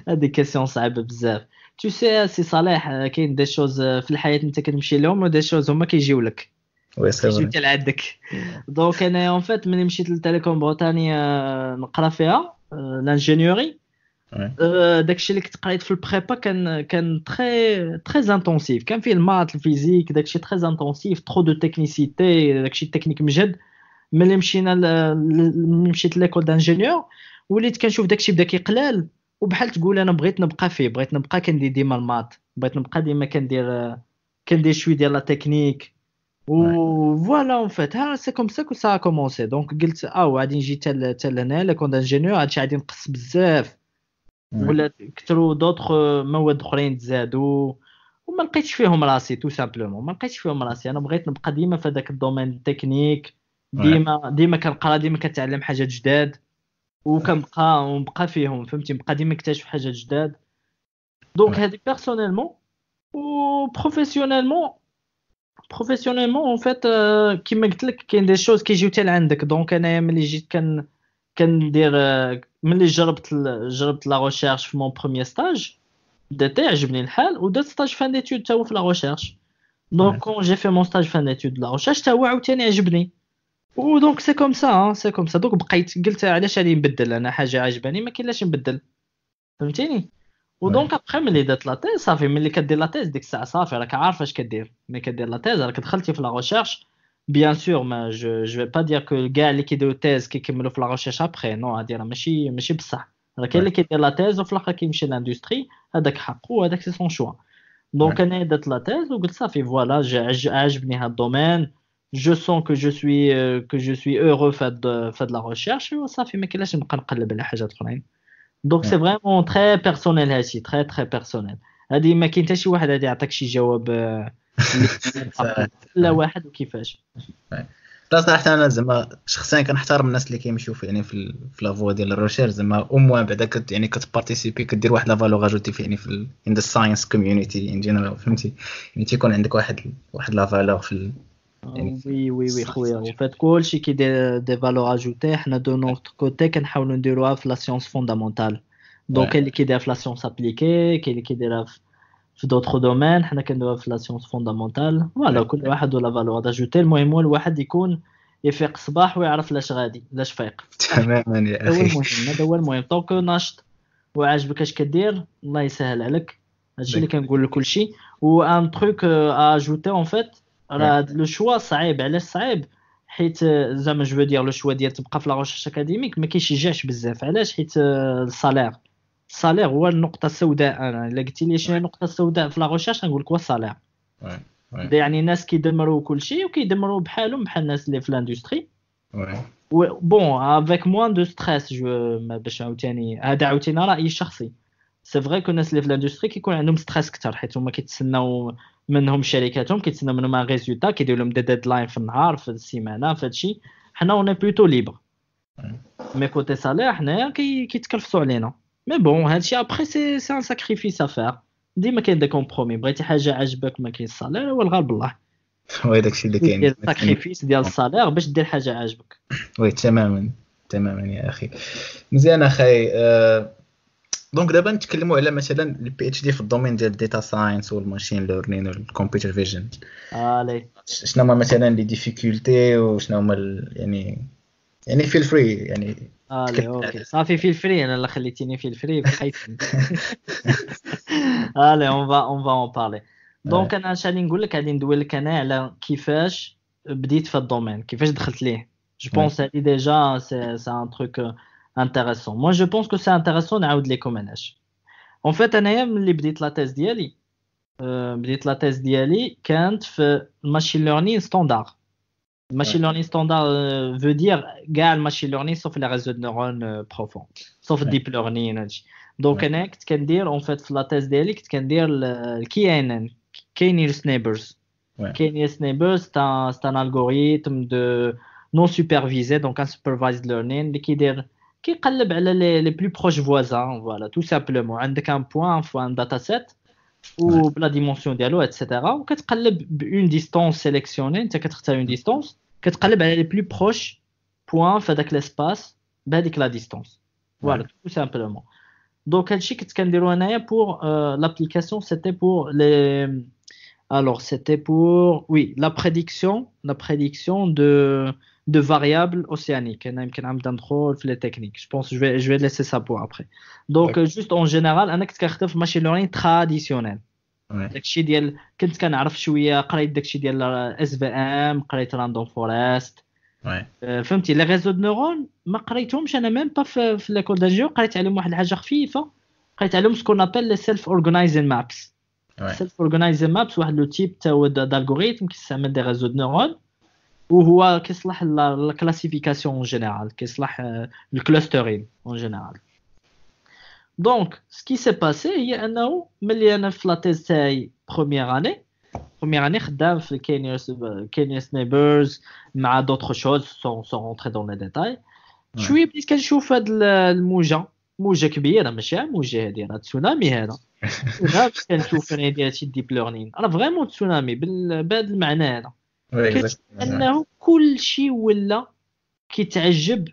هادي question صعيبة بزاف. tu sais سي صالح، كاين des choses في الحياة انت كتمشي لهم و des choses هما كيجيو لك، oui c'est كيجيو حتى لعندك. donc انا en fait ملي مشيت ل Télécom Bretagne نقرا فيها l'ingénierie، داكشي اللي كنت قريت في ال prépa كان كان très très intensif، كان فيه ال maths، ال physique، داكشي très intensif، trop de technicité، داكشي تكنيك مجهد. ملي مشينا ملي مشيت l'école d'ingénieurs وليت كنشوف داكشي بدا كيقلال، وبحال تقول انا بغيت نبقى فيه، بغيت نبقى كندير ديما ال maths، بغيت نبقى ديما كندير كندير شوية ديال la technique و voilà. en fait ها c'est comme ça que ça a commencé. donc قلت اه غادي نجي حتى لهنا l'école d'ingénieurs، هادشي غادي نقص بزاف، ولا كثروا d'autres مواد اخرين تزادوا وما لقيتش فيهم راسي، tout simplement ما لقيتش فيهم راسي. انا بغيت نبقى ديما في هذاك ال domaine technique، ديما ديما كنقرا، ديما كنتعلم حاجات جداد وكنبقى ونبقى فيهم، فهمتي، نبقى ديما نكتشف حاجات جداد. donc هادي personnellement. و professionnellement professionnellement en fait كيما قلت لك كاين des choses كيجيو حتى لعندك. donc انايا ملي جيت كان كندير ملي جربت جربت la recherche في mon premier stage d'été، عجبني الحال ودرت stage fin d'études تا هو في la recherche. donc quand j'ai fait mon stage fin d'études la recherche تا هو عاوتاني عجبني، و donc c'est comme ça c'est comme ça. donc بقيت قلت علاش غادي نبدل، انا حاجة عجباني ما كاين لاش نبدل، فهمتيني. و donc après ملي درت la thèse صافي، ملي كدير la thèse ديك الساعة صافي راك عارف اش كدير. ملي كدير la thèse راك دخلتي في la recherche. bien sûr mais je je vais pas dire que كاع اللي كيديروا thèse كيكملوا في la recherche après، non، هادي راه ماشي ماشي بصح. راه كاين اللي كيدير la thèse وفي الاخر كيمشي l'industrie، هذاك حقه، هذاك c'est son choix. donc انا درت la thèse وقلت صافي voilà عجبني هاد ال domaine، je sens que je suis que je suis heureux في هاد la recherche، وصافي ما كاينلاش نبقى نقلب على حاجات اخرين. donc c'est vraiment très personnel هادشي، très très personnel. هادي ما كاين حتى شي واحد غادي يعطيك شي جواب لا واحد وكيفاش. لا صراحة انا زعما شخصيا كنحترم الناس اللي كيمشيو في يعني في في la voie ديال ال recherche، زعما au moins بعدا كت يعني كت participer، كدير واحد la valeur ajoutée في يعني في in the science community in general، فهمتي، يعني تيكون عندك واحد واحد la valeur في يعني. oui oui oui خويا، en fait كلشي كيدير des valeurs ajoutées. حنا de notre côté كنحاولوا نديروها في la science fondamentale. donc كاين اللي كيدير في la science appliquée، كاين اللي كيديرها في d'autres domaines، حنا كنديروها في la science fondamentale. voilà كل واحد و la valeur ajoutée. المهم هو الواحد يكون يفيق الصباح ويعرف لاش غادي، لاش فايق. تماما يا اخي، هو المهم، هذا هو المهم. tant que ناشط وعاجبك اش كدير الله يسهل عليك. هادشي اللي كنقول لكل شيء. و un truc à ajouter en fait، راه le choix صعيب. علاش صعيب؟ حيت زعما je veux dire le choix ديال تبقى في la recherche académique ما كيشجعش بزاف. علاش؟ حيت ال salaire ال salaire هو النقطة السوداء. انا الا قلتي لي شنو هي النقطة السوداء في la recherche نقول لك هو ال salaire. يعني الناس كيدمروا كل شيء وكيدمروا بحالهم بحال الناس اللي في l'industrie. bon avec moins de stress je باش عاوتاني هذا عاوتاني رايي الشخصي. c'est vrai que الناس اللي في l'industrie كيكون عندهم stress اكثر، حيت هما كيتسناو منهم شركاتهم، كيتسناو منهم un résultat، كيديروا لهم des deadlines في النهار، في السيمانة، في هادشي. حنا on est plutôt libre. Mais côté salaire حنايا كيتكرفسوا علينا. Mais bon هادشي après c'est c'est un sacrifice à faire. ديما كاين des compromis، بغيتي حاجة عجبك ما كاين ال salaire هو الغالب الله. oui داكشي اللي كاين sacrifice ديال ال salaire باش دير حاجة عاجبك. oui تماما تماما يا اخي. مزيان اخي. أه... donc دابا نتكلموا على مثلا ال PhD في ال domaine ديال ال data science وال machine learning وال computer vision. allez شنو هما مثلا les difficultés وشنو هما ال... يعني يعني feel free يعني. allez OK صافي feel free، انا اللي خليتيني feel free بحيث. allez on va on va en parler. donc انا اش غادي نقول لك، غادي ندوي لك انا على كيفاش بديت في ال domaine، كيفاش دخلت ليه. je pense هادي déjà c'est c'est un truc intéressant. Moi je pense que c'est intéressant نعاود لكم علاش. En fait انايا ملي بديت la thèse ديالي، بديت la thèse ديالي كانت في ال machine learning standard. ال machine learning standard veut dire كاع ال machine learning sauf les réseaux de neurones profonds، sauf ال deep learning هادشي. donc انا كنت كندير en fait في la thèse ديالي كنت كندير ال KNN، K-nearest neighbors. K-nearest neighbors c'est un algorithme de non supervisé، donc unsupervised learning اللي كيدير كيقلب على les les plus proches voisins. Voilà tout simplement عندك un point في un dataset وب la dimension ديالو et cetera، وكتقلب ب une distance sélectionnée. انت كتختار une distance، كتقلب على les plus proches points في هذاك l'espace بهذيك la distance. Voilà tout simplement. Donc هادشي كنت كنديرو انايا pour l'application، c'était pour les alors c'était pour oui la prédiction la prédiction de de variables océaniques. انا يمكن نبدا ندخل في les techniques، je pense je vais je vais laisser ça pour après. Donc juste en général انا كنت كنخدم في machine learning traditionnel. داكشي ديال كنت كنعرف شوية، قريت داكشي ديال SVM، قريت random forest، فهمتي. les réseaux de neurones ما قريتهمش انا même pas في, في l'école d'ingénieur. قريت عليهم واحد الحاجة خفيفة، قريت عليهم ce qu'on appelle les self-organizing maps. Self-organizing maps واحد le type تا هو d'algorithme كيستعمل des réseaux de neurones، وهو كيصلح la classification en général، كيصلح ال clustering en général. Donc ce qui s'est passé هي انه ملي انا في la thèse تاعي première année première année خدام في K-nearest K-nearest neighbors مع d'autres choses sans sans rentrer dans les détails. شوية بديت كنشوف هاد الموجه، موجه كبيرة ماشي موجه هادي راه تسونامي، هذا تسونامي كنشوف انا ديال هادشي deep learning راه vraiment tsunami بهذا المعنى هذا. انه كلشي ولا كيتعجب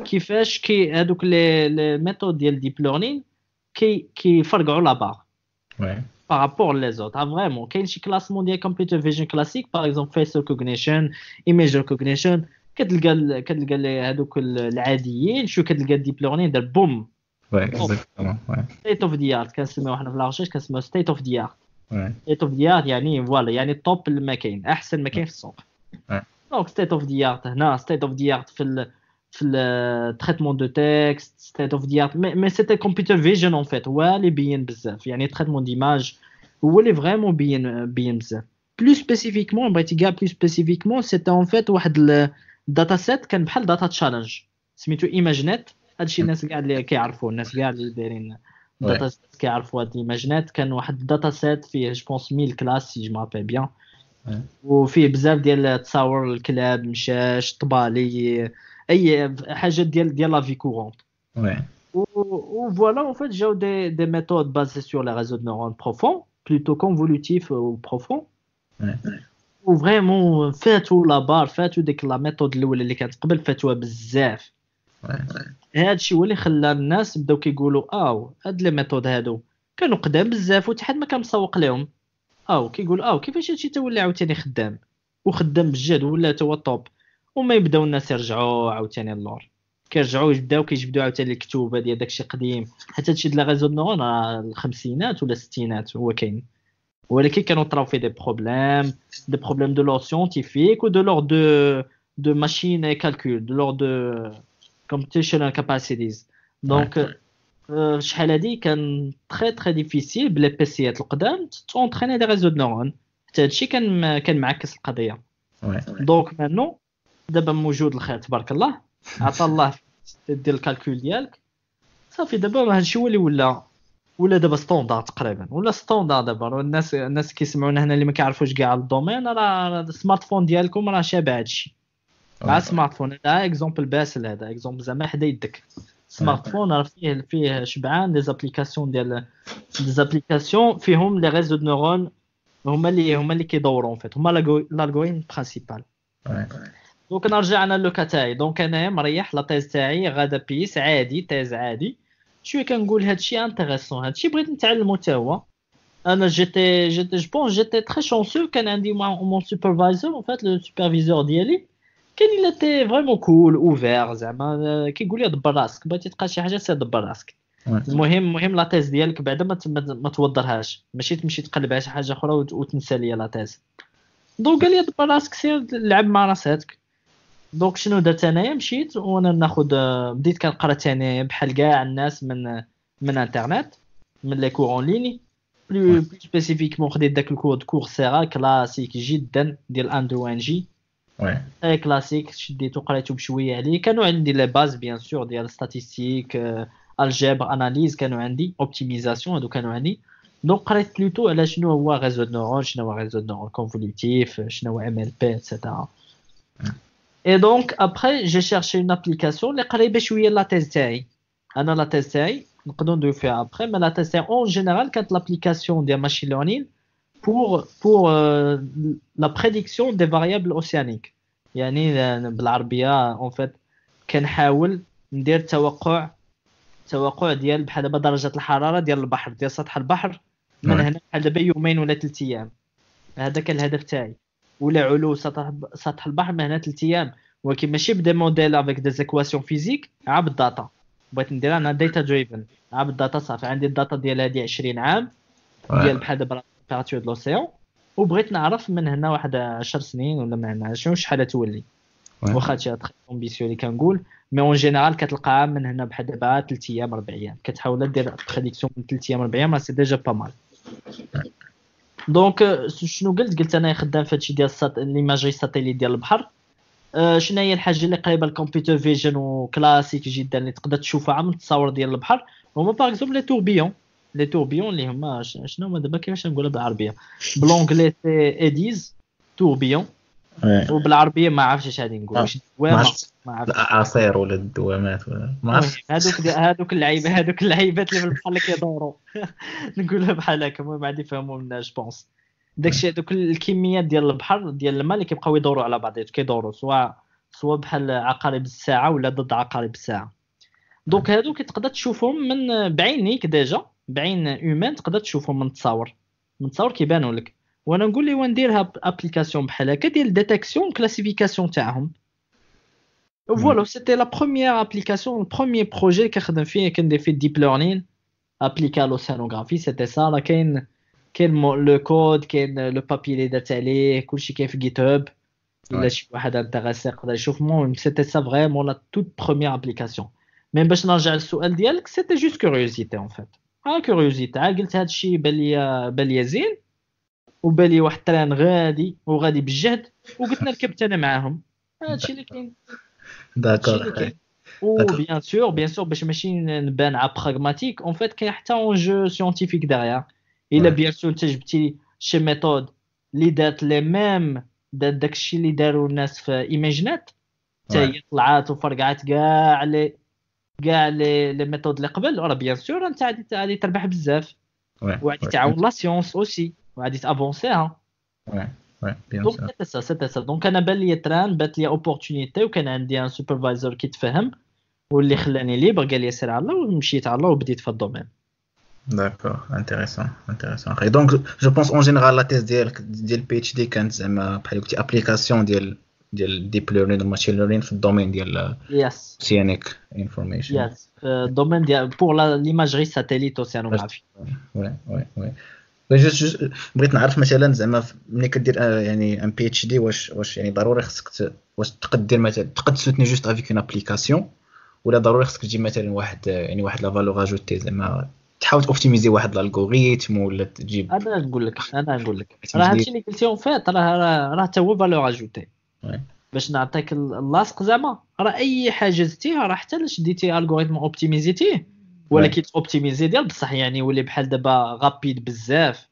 كيفاش كي هادوك les les méthodes ديال deep learning كي كيفرقعوا la barre par rapport les autres. Vraiment كاين شي classement ديال computer vision classique، par exemple face recognition، image recognition، كتلقى كتلقى هادوك العاديين، شو كتلقى deep learning دار boum. Oui exactement. Oui state of the art كنسميوه حنا في la recherche، كنسميوه state of the art. State of the art يعني voilà يعني top ما كاين، احسن ما كاين في السوق. Donc state of the art هنا، state of the art في ال في ال traitement de texte، state of the art mais c'était computer vision en fait هو اللي بين بزاف، يعني traitement d'image هو اللي vraiment بين بين بزاف. Plus spécifiquement بغيتي كاع plus spécifiquement c'était en fait واحد ال dataset كان بحال data challenge سميتو ImageNet. هادشي الناس كاع اللي كيعرفوا، الناس كاع اللي دايرين data كيعرفوا هاد ImageNet. كان واحد dataset فيه je pense mille classes si je me rappelle bien، وفيه بزاف ديال التصاور، الكلاب، مشاش، طبالي، اي حاجة ديال ديال la vie courante. Oui و voilà en fait جاو des des méthodes basées sur les réseaux de neurones profonds، plutôt convolutifs ou profonds، و vraiment فاتوا la barre، فاتوا ديك la méthode الاولى اللي كانت قبل، فاتوها بزاف. هذا الشيء هو اللي خلى الناس بداو كيقولوا او هاد les méthodes هادو كانوا قدام بزاف وحتى حد ما كان مسوق لهم. او كيقول او كيفاش هادشي تا ولا عاوتاني خدام وخدام بجد ولا تا هو top، وما يبداو الناس يرجعوا عاوتاني اللور، كيرجعوا يبداو كيجبدوا عاوتاني الكتوبه ديال داكشي قديم. حتى هادشي ديال réseaux de neurones راه الخمسينات ولا الستينات هو كاين، ولكن كانوا طراو فيه des problèmes، des problèmes de l'ordre scientifique و de l'ordre de de machine calcul، de l'ordre de computational capacities. Donc شحال هادي كان très très difficile ب les PC ات القدام t'entraîner des réseaux de neurones، حتى هادشي كان كان معكس القضية. Donc maintenant دابا موجود الخير تبارك الله، عطا الله دير ال calcul ديالك صافي. دابا هادشي هو اللي ولا ولا دابا standard تقريبا، ولا standard دابا. الناس الناس كيسمعونا هنا اللي ما كيعرفوش كاع ال domaine، راه ال smartphone ديالكم راه شابه هادشي. مع smartphone. هذا exemple باسل، هذا exemple زعما حدا يدك smartphone راه فيه فيه شبعان des applications ديال des applications فيهم les réseaux de neurones هما اللي هما اللي كيدوروا en fait، هما l'algorithme principal. donc نرجع انا le cas تاعي. donc انايا مريح la thèse تاعي غادا بيس عادي، thèse عادي شوية كنقول هادشي intéressant، هادشي بغيت نتعلمو حتى هو. انا j'étais j'étais je pense j'étais très chanceux، كان عندي mon supervisor en fait le superviseur ديالي كان il était vraiment cool ouvert زعما كيقول لي دبر راسك، بغيتي تلقى شي حاجة سير دبر راسك. المهم المهم la thèse ديالك بعدا ما ما توضرهاش، ماشي تمشي تقلب على شي حاجة اخرى وتنسى ليا la thèse. donc قال لي دبر راسك سير لعب مع راساتك. donc شنو درت انايا، مشيت وانا ناخذ بديت كنقرا ثاني بحال كاع الناس من من انترنت، من les cours en ligne، plus plus spécifiquement خديت داك ال cours Coursera classique جدا ديال Andrew Ng، oui classique، شديتو قريتو بشوية عليه. كانوا عندي les bases bien sûr ديال statistique، الجبر، analyse، كانوا عندي optimisation، هادو كانوا عندي. donc قريت plutôt على شنو هو réseau de neurones، شنو هو réseau de neurones convolutif، شنو هو MLP et cetera. et donc après j'ai cherché une application اللي قريبه شوية la thèse تاعي. انا la thèse تاعي نقدروا ندويو فيها après، mais la thèse تاعي en général كانت l'application ديال machine learning pour pour la prédiction des variables océaniques. يعني بالعربية en fait كنحاول ندير توقع توقع ديال بحال دابا درجه الحرارة ديال البحر، ديال سطح البحر من هنا بحال دابا يومين ولا ثلاث ايام. هذا كان الهدف تاعي، ولا علو سطح سطح البحر من هنا ثلاث ايام، ولكن ماشي ب des modèles avec des équations physiques، عا بال data. بغيت ندير انا data driven عا بال data. صافي عندي ال data ديال هادي عشرين عام ديال بحال دابا température de l'océan، وبغيت نعرف من هنا واحد عشر سنين ولا من هنا شنو شحال تولي. واخا هادشي très ambitieux اللي كنقول، mais en général كتلقاها من هنا بحال دابا ثلاث ايام اربع ايام، كتحاول دير prédiction من ثلاث ايام اربع ايام، c'est déjà pas mal. donc شنو قلت؟ قلت انا خدام في هادشي ديال l'imagerie satellite ديال البحر. أه شنو هي الحاجة اللي قريبه لل computer vision و classique جدا اللي تقدر تشوفها من التصاور ديال البحر؟ هما par exemple les tourbillons. les tourbillons اللي هما شنو هما دابا كيفاش نقولها بالعربية؟ ب l'anglais c'est eddies tourbillons، وبالعربيه ما عرفتش اش غادي نقول، واش دوامه ما عرفتش، الاعاصير ولا الدوامات ولا ما عرفتش. هذوك هذوك اللعيبة هذوك اللعيبات اللي في البحر اللي كيدوروا نقولها بحال هكا، المهم غادي يفهموا منا je pense. داكشي هذوك الكميات ديال البحر ديال الماء اللي كيبقاو يدوروا على بعضياتهم، كيدوروا سواء سواء بحال عقارب الساعة ولا ضد عقارب الساعة. donc هادو كتقدر تشوفهم من بعينيك déjà، بعين humaine تقدر تشوفهم من التصاور، من التصاور كيبانوا لك. وانا نقول لي ونديرها application بحال هكا ديال détection classification تاعهم. voilà c'était la première application، ال premier projet كنخدم فيه كندير فيه deep learning appliqué à l'océanographie. c'était ça. راه كاين كاين le code، كاين le papier اللي درت عليه، كلشي كاين في GitHub، الا شي واحد intéressé يقدر يشوف. المهم c'était ça vraiment la toute première application. mais باش نرجع للسؤال ديالك، c'était juste curiosité en fait، ها curiosité. قلت هادشي بان لي بان لي زين، وبان لي واحد ال train غادي وغادي بالجهد، وقلت نركب انا معاهم. هادشي اللي كاين. d'accord. و bien sûr bien sûr باش ماشي نبان ع pragmatique en fait، كاين حتى enjeu scientifique derrière. الا bien sûr انت جبتي شي méthode اللي دارت les mêmes دارت داكشي اللي داروا الناس في ImageNet، حتى هي طلعات وفرقعات كاع les كاع les les méthodes اللي قبل، راه bien sûr انت غادي غادي تربح بزاف، وغادي تعاون la science aussi، وغادي تافونسيها. oui oui bien donc c'était ça c'était ça. donc انا بان لي train، بانت لي opportunité، وكان عندي un supervisor كيتفهم واللي خلاني libre، قال لي سير على الله، ومشيت على الله وبديت في ال domaine. d'accord، intéressant intéressant. donc je pense en général la thèse ديالك ديال PhD كانت زعما بحال قلتي application ديال ديال deep learning و machine learning في ال domaine ديال yes océanic information. yes، ال domaine ديال pour l'imagerie satellite océanographique. oui oui oui juste بغيت نعرف مثلا زعما ملي كدير يعني un PhD، واش واش يعني ضروري خصك واش تقدر دير مثلا تقد soutenir juste avec une application، ولا ضروري خصك تجيب مثلا واحد يعني واحد la valeur ajoutée، زعما تحاول optimiser واحد l'algorithme ولا تجيب. انا نقول لك انا نقول لك راه هادشي اللي قلتي en fait راه راه حتى هو valeur ajoutée. باش نعطيك اللاصق زعما، راه اي حاجة زدتيها راه حتى شديتي algorithme اوبتيميزيتيه، ولكن optimisé ديال بصح يعني يولي بحال دابا rapide بزاف،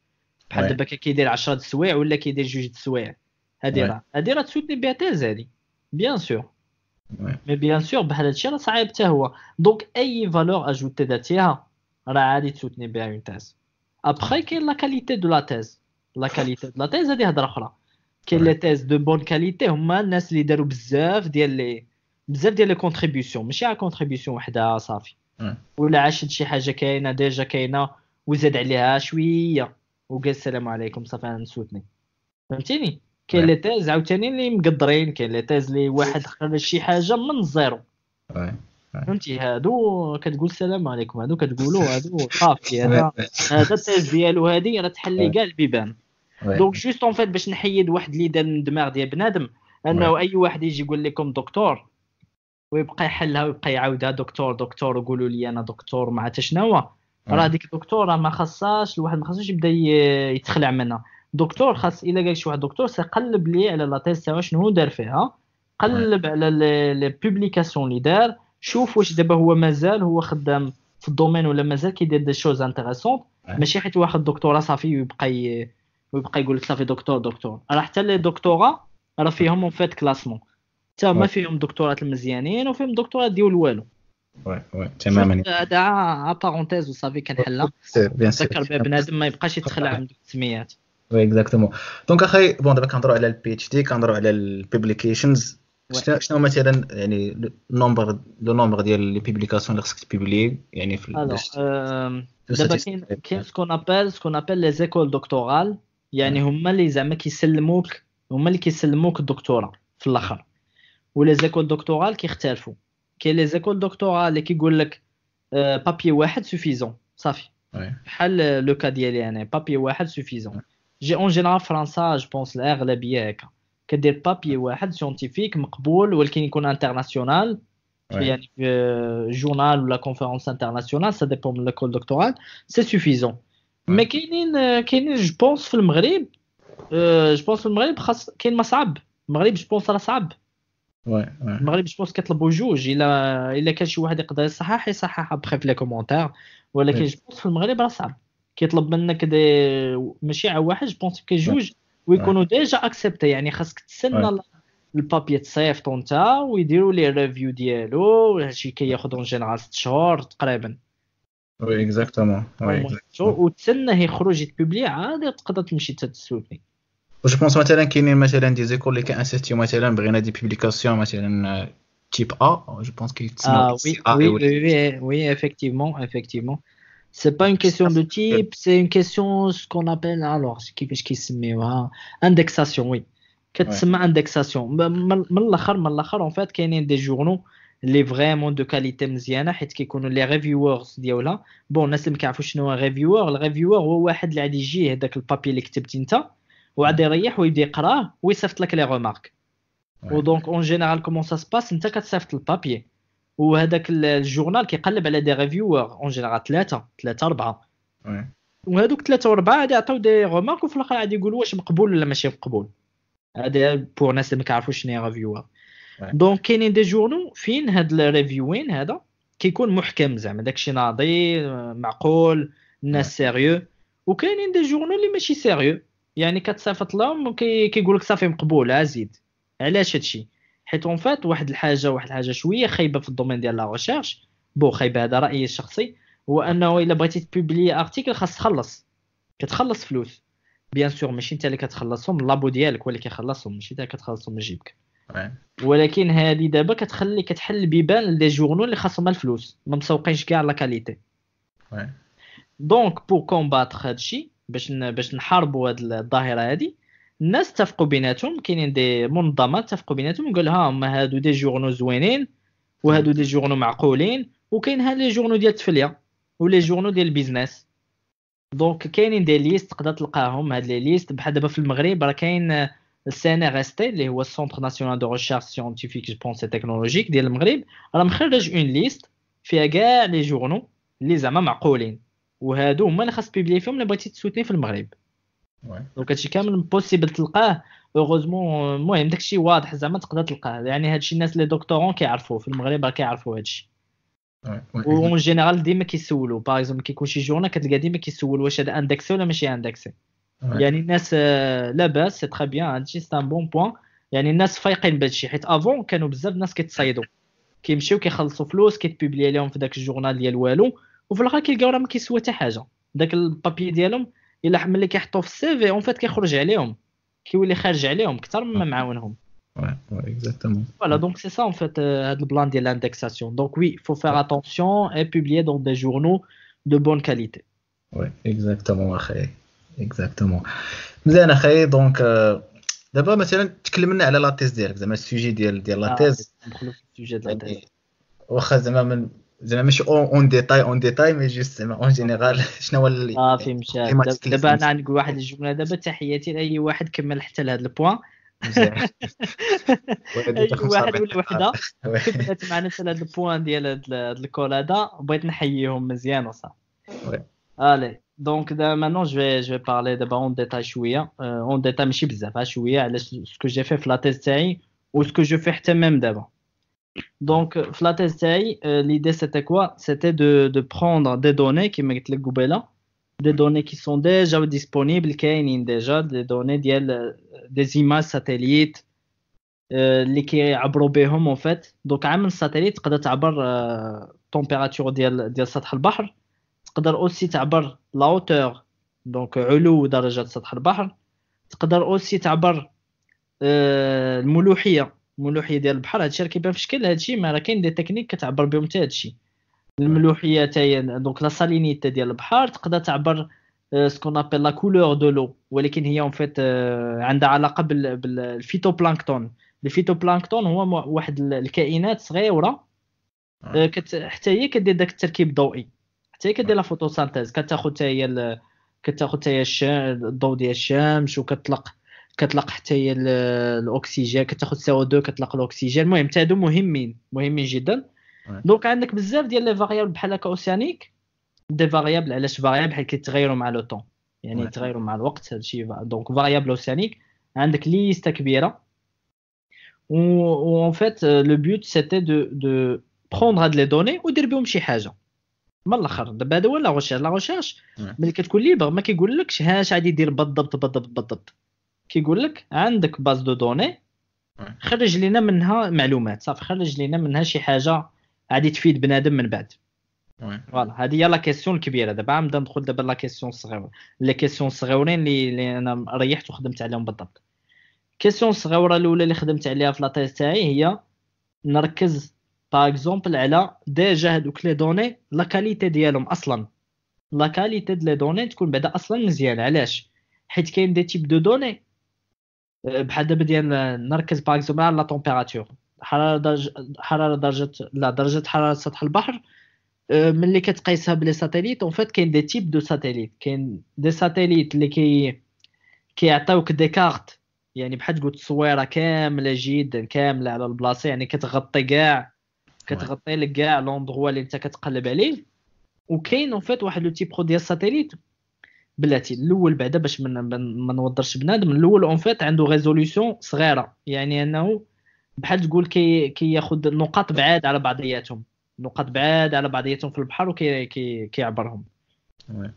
بحال دابا كيدير عشرة د السوايع ولا كيدير جوج د السوايع. هادي راه هادي راه تسوتني بها thèse هادي. bien sûr mais bien sûr بحال هادشي راه صعيب حتى هو. donc اي valeur ajoutée درتيها راه عادي تسوتني بها une thèse. après كاين la qualité de la thèse، la qualité de la thèse هادي هضره اخرى. كاين les thèses de bonne qualité هما الناس اللي داروا بزاف ديال les بزاف ديال les contributions، ماشي على contribution وحده صافي، ولا عاشت شي حاجة كاينه déjà كاينه وزاد عليها شوية وقال السلام عليكم صافي انا نسوتني، فهمتيني؟ كاين les thèses عاوتاني اللي مقدرين، كاين les thèses اللي واحد خرج شي حاجة من ال zéro، فهمتي؟ هادو كتقول السلام عليكم، هادو كتقولوا هادو صافي هذا هذا ال thèse ديالو هادي راه تحلي كاع البيبان. donc juste en fait باش نحيد واحد l'idée من الدماغ ديال بنادم انه اي واحد يجي يقول لكم دكتور ويبقى يحلها ويبقى يعاودها دكتور دكتور وقولوا لي انا دكتور ما عرفت شنو هو، راه ديك الدكتور راه ما خصهاش الواحد ما خصوش يبدا يتخلع منها. دكتور خاص الا قال شي واحد دكتور سيقلب لي على la thèse تاعو شنو دار فيها، قلب على les publications اللي دار، شوف واش دابا هو مازال هو خدام في ال domaine ولا مازال كيدير des choses intéressantes. ماشي حيت واحد دكتوراه صافي ويبقى ويبقى يقول لك صافي دكتور دكتور. راه حتى les doctorats راه فيهم en fait classement، حتى هما فيهم دكتورات المزيانين وفيهم دكتورات ديال والو. oui oui تماما. هذا parenthèse وصافي كنحلها، ذكر بها بنادم ما يبقاش يتخلع من دوك السميات. oui exactement. donc اخي bon دابا كنهضروا على ال PhD، كنهضروا على ال publications. شنو مثلا يعني ال nombre le nombre ديال les publications اللي خصك ت publier يعني في دابا كاين كاين ce qu'on appelle ce qu'on appelle les écoles doctorales، يعني هما اللي زعما كيسلموك، هما اللي كيسلموك الدكتوراه في الاخر. و les écoles doctorales كيختلفوا، كاين les écoles doctorales اللي كيقول لك papier واحد suffisant صافي، بحال le cas ديالي انا papier واحد suffisant. j'ai en général فرنسا je pense الاغلبية هكا كدير papier واحد scientifique مقبول ولكن يكون international، يعني في journal ولا conférence internationale، ça dépend من l'école doctorale c'est suffisant. mais كاينين كاينين je pense في المغرب، je pense في المغرب خاص كاين ما صعب المغرب je pense راه صعب. oui المغرب je pense كيطلبوا جوج، الا الا كان شي واحد يقدر يصحح يصحح après في les commentaires، ولكن je pense في المغرب راه صعب كيطلب منك des ماشي على واحد je pense كاين جوج ويكونوا déjà acceptés، يعني خاصك تسنى ال papier تصيفطو انت ويديروا les review ديالو، هادشي كياخذ en général ست شهور تقريبا. oui exactement. oui وتسنى يخرج يت publier عاد تقدر تمشي تسوتني. و je pense مثلا كاينين مثلا des écoles اللي كي insister مثلا بغينا des publications مثلا type A، je pense كيتسناو. oui oui oui oui effectivement effectivement. C'est pas une question de type, c'est une question ce qu'on appelle alors كيفاش كيسميوها indexation. oui كتسمى indexation. من الاخر من الاخر en fait كاينين des journaux اللي vraiment de qualité مزيانه حيت كيكونوا les reviewers ديالها. bon الناس اللي ما كيعرفوش شنو هو reviewer، ال reviewer هو واحد اللي غادي يجي هذاك ال papier اللي كتبتي انت وعاد يريح ويبدا يقراه ويصيفط لك les remarques. و donc en général comment ça se passe، انت كتصيفط ال papier وهذاك ال journal كيقلب على des reviewers en général ثلاثة ثلاثة اربعة، وهذوك ثلاثة واربعة غادي يعطيو des remarques وفي الاخر غادي يقولوا واش مقبول ولا ماشي مقبول. هذا pour الناس اللي ما كيعرفوش شنو هي reviewer. donc كاينين des journaux فين هاد ال reviewing هذا كيكون محكم زعما داكشي ناضي معقول الناس sérieux، وكاينين des journaux اللي ماشي sérieux، يعني كتصيفط لهم وكيقول لك صافي مقبول ازيد. علاش هادشي؟ حيت en fait واحد الحاجة واحد الحاجة شوية خايبة في ال domaine ديال la recherche، bon خايبة هذا رايي الشخصي، هو انه الا بغيتي ت publier article خاص تخلص، كتخلص فلوس bien sûr ماشي انت اللي كتخلصهم، ال labo ديالك هو اللي كيخلصهم ماشي انت كتخلصهم من جيبك. ولكن هذه دابا كتخلي كتحل بيبان les journaux اللي خاصهم الفلوس ما مسوقينش كاع la qualité. donc pour combattre هادشي باش باش نحاربوا هاد الظاهرة هادي، الناس اتفقوا بيناتهم، كاينين des منظمات اتفقوا بيناتهم وقال ها هما هادو des journaux زوينين وهادو des journaux معقولين، وكاين ها les journaux ديال التفليه و les journaux ديال ال business. donc كاينين des listes تقدر تلقاهم هاد les listes. بحال دابا في المغرب راه كاين ال CNRST اللي هو ال Centre national de recherche scientifique je pense technologique ديال المغرب، راه مخرج une liste فيها كاع les journaux اللي زعما معقولين، وهادو هما اللي خاص publier فيهم الا بغيتي تسوتني في المغرب. donc هادشي كامل possible تلقاه heureusement. المهم داكشي واضح زعما تقدر تلقاه، يعني هادشي الناس les doctorants كيعرفوه في المغرب راه كيعرفوا هادشي. و en général ديما كيسولوا par exemple كيكون شي journal كتلقى ديما كيسول واش هذا indexé ولا ماشي indexé. يعني الناس لاباس c'est très bien هادشي c'est un bon point. يعني الناس فايقين بهادشي، حيت avant كانوا بزاف الناس كيتصايدوا، كيمشيو كيخلصوا فلوس كيت publier لهم في داك ال journal ديال والو، وفي الاخر كيلقاو راه ما كيسوى حتى حاجة. داك ال papier ديالهم الا ملي كيحطوه في ال CV en fait كيخرج عليهم، كيولي خارج عليهم اكثر مما معاونهم. Ouais, ouais, exactement. Voilà, donc c'est ça en fait euh, le plan de l'indexation. Donc oui, il faut faire attention et publier dans des journaux de bonne qualité. Oui, exactement اخي، exactement. مزيان اخي. donc دابا مثلا تكلمنا على la thèse ديالك، زعما ال sujet ديال ديال la thèse. ندخلوا في ال sujet ديال la thèse. واخا زعما من زعما ماشي en détail en détail mais juste زعما en général شنو هو اللي صافي مشى. دابا انا نقول واحد الجملة دابا، تحياتي لاي واحد كمل حتى لهذا ال point. مزيان. اي واحد ولا وحده كملت معنا حتى لهذا ال point ديال هذا ال call هذا، بغيت نحييهم مزيان وصافي. Allez donc دابا maintenant je vais je vais parler دابا en détail شوية، en détail ماشي بزاف، شوية على ce que j'ai fait في la thèse تاعي و ce que je fais حتى même دابا. Donc, في la thèse تاعي l'idée c'était quoi؟ C'était de, de prendre des données كما قلت لك قبيلة، des données qui sont déjà disponibles، كاينين déjà des données ديال des images satellites اللي كيعبروا بهم en fait. Donc عام ال satellite تقدر تعبر température ديال ديال سطح البحر، تقدر aussi تعبر la hauteur donc علو درجه سطح البحر، تقدر aussi تعبر الملوحيه الملوحيه ديال البحر. هادشي راه كيبان في شكل هادشي، ما راه كاين des techniques كتعبر بهم حتى هادشي. الملوحيه حتى هي donc la salinité ديال البحر، تقدر تعبر ce qu'on appelle la couleur de l'eau، ولكن هي en fait عندها علاقة بال phytoplancton. ال phytoplancton هو واحد الكائنات صغيرة حتى هي كدير داك التركيب الضوئي، حتى هي كدير la photosynthèse، كتاخذ حتى هي كتاخذ حتى هي الضوء ديال الشمس وكتطلق كتطلق حتى هي الاكسجين، كتاخذ سي او اثنين كتطلق الاكسجين. المهم حتى هادو مهمين مهمين جدا. donc عندك بزاف ديال les variables بحال هكا océaniques، des variables. علاش variables؟ حيت كيتغيروا مع le temps، يعني يتغيروا مع الوقت هادشي. donc variables océaniques عندك liste كبيرة. و en fait le but c'était de de prendre هاد les données ودير بهم شي حاجة من الاخر. دابا هذا هو la recherche. la recherche ملي كتكون libre ما كيقولكش هاش غادي دير بالضبط بالضبط بالضبط، كيقول لك عندك base de données خرج لنا منها معلومات، صافي خرج لنا منها شي حاجة غادي تفيد بنادم من بعد. voilà هذه هي la question الكبيرة. دابا غنبدا ندخل دابا la question الصغيرة، les questions الصغيورين اللي, اللي انا ريحت وخدمت عليهم بالضبط. question الصغيرة الاولى اللي خدمت عليها في la thèse تاعي هي نركز par exemple على déjà هذوك les données la qualité ديالهم اصلا، la qualité ديال les données تكون بعدا اصلا مزيانه. علاش؟ حيت كاين des types de données بحال دابا ديال نركز par exemple على la température، حرارة درجه حرارة درجه لا درجه حرارة سطح البحر ملي كتقيسها ب les satellites. en fait كاين des types de satellites، كاين des satellites اللي كي كيعطيوك des cartes، يعني بحال تقول تصويره كاملة جدا كاملة على البلاصة، يعني كتغطي كاع كتغطي لك كاع l'endroit اللي انت كتقلب عليه. وكاين en fait واحد le type ديال satellite بلاتي الاول بعدا باش ما نوضرش بنادم. الاول en fait عنده résolution صغيرة، يعني انه بحال تقول كي كياخذ نقاط بعاد على بعضياتهم، نقاط بعاد على بعضياتهم في البحر وكي كي كيعبرهم.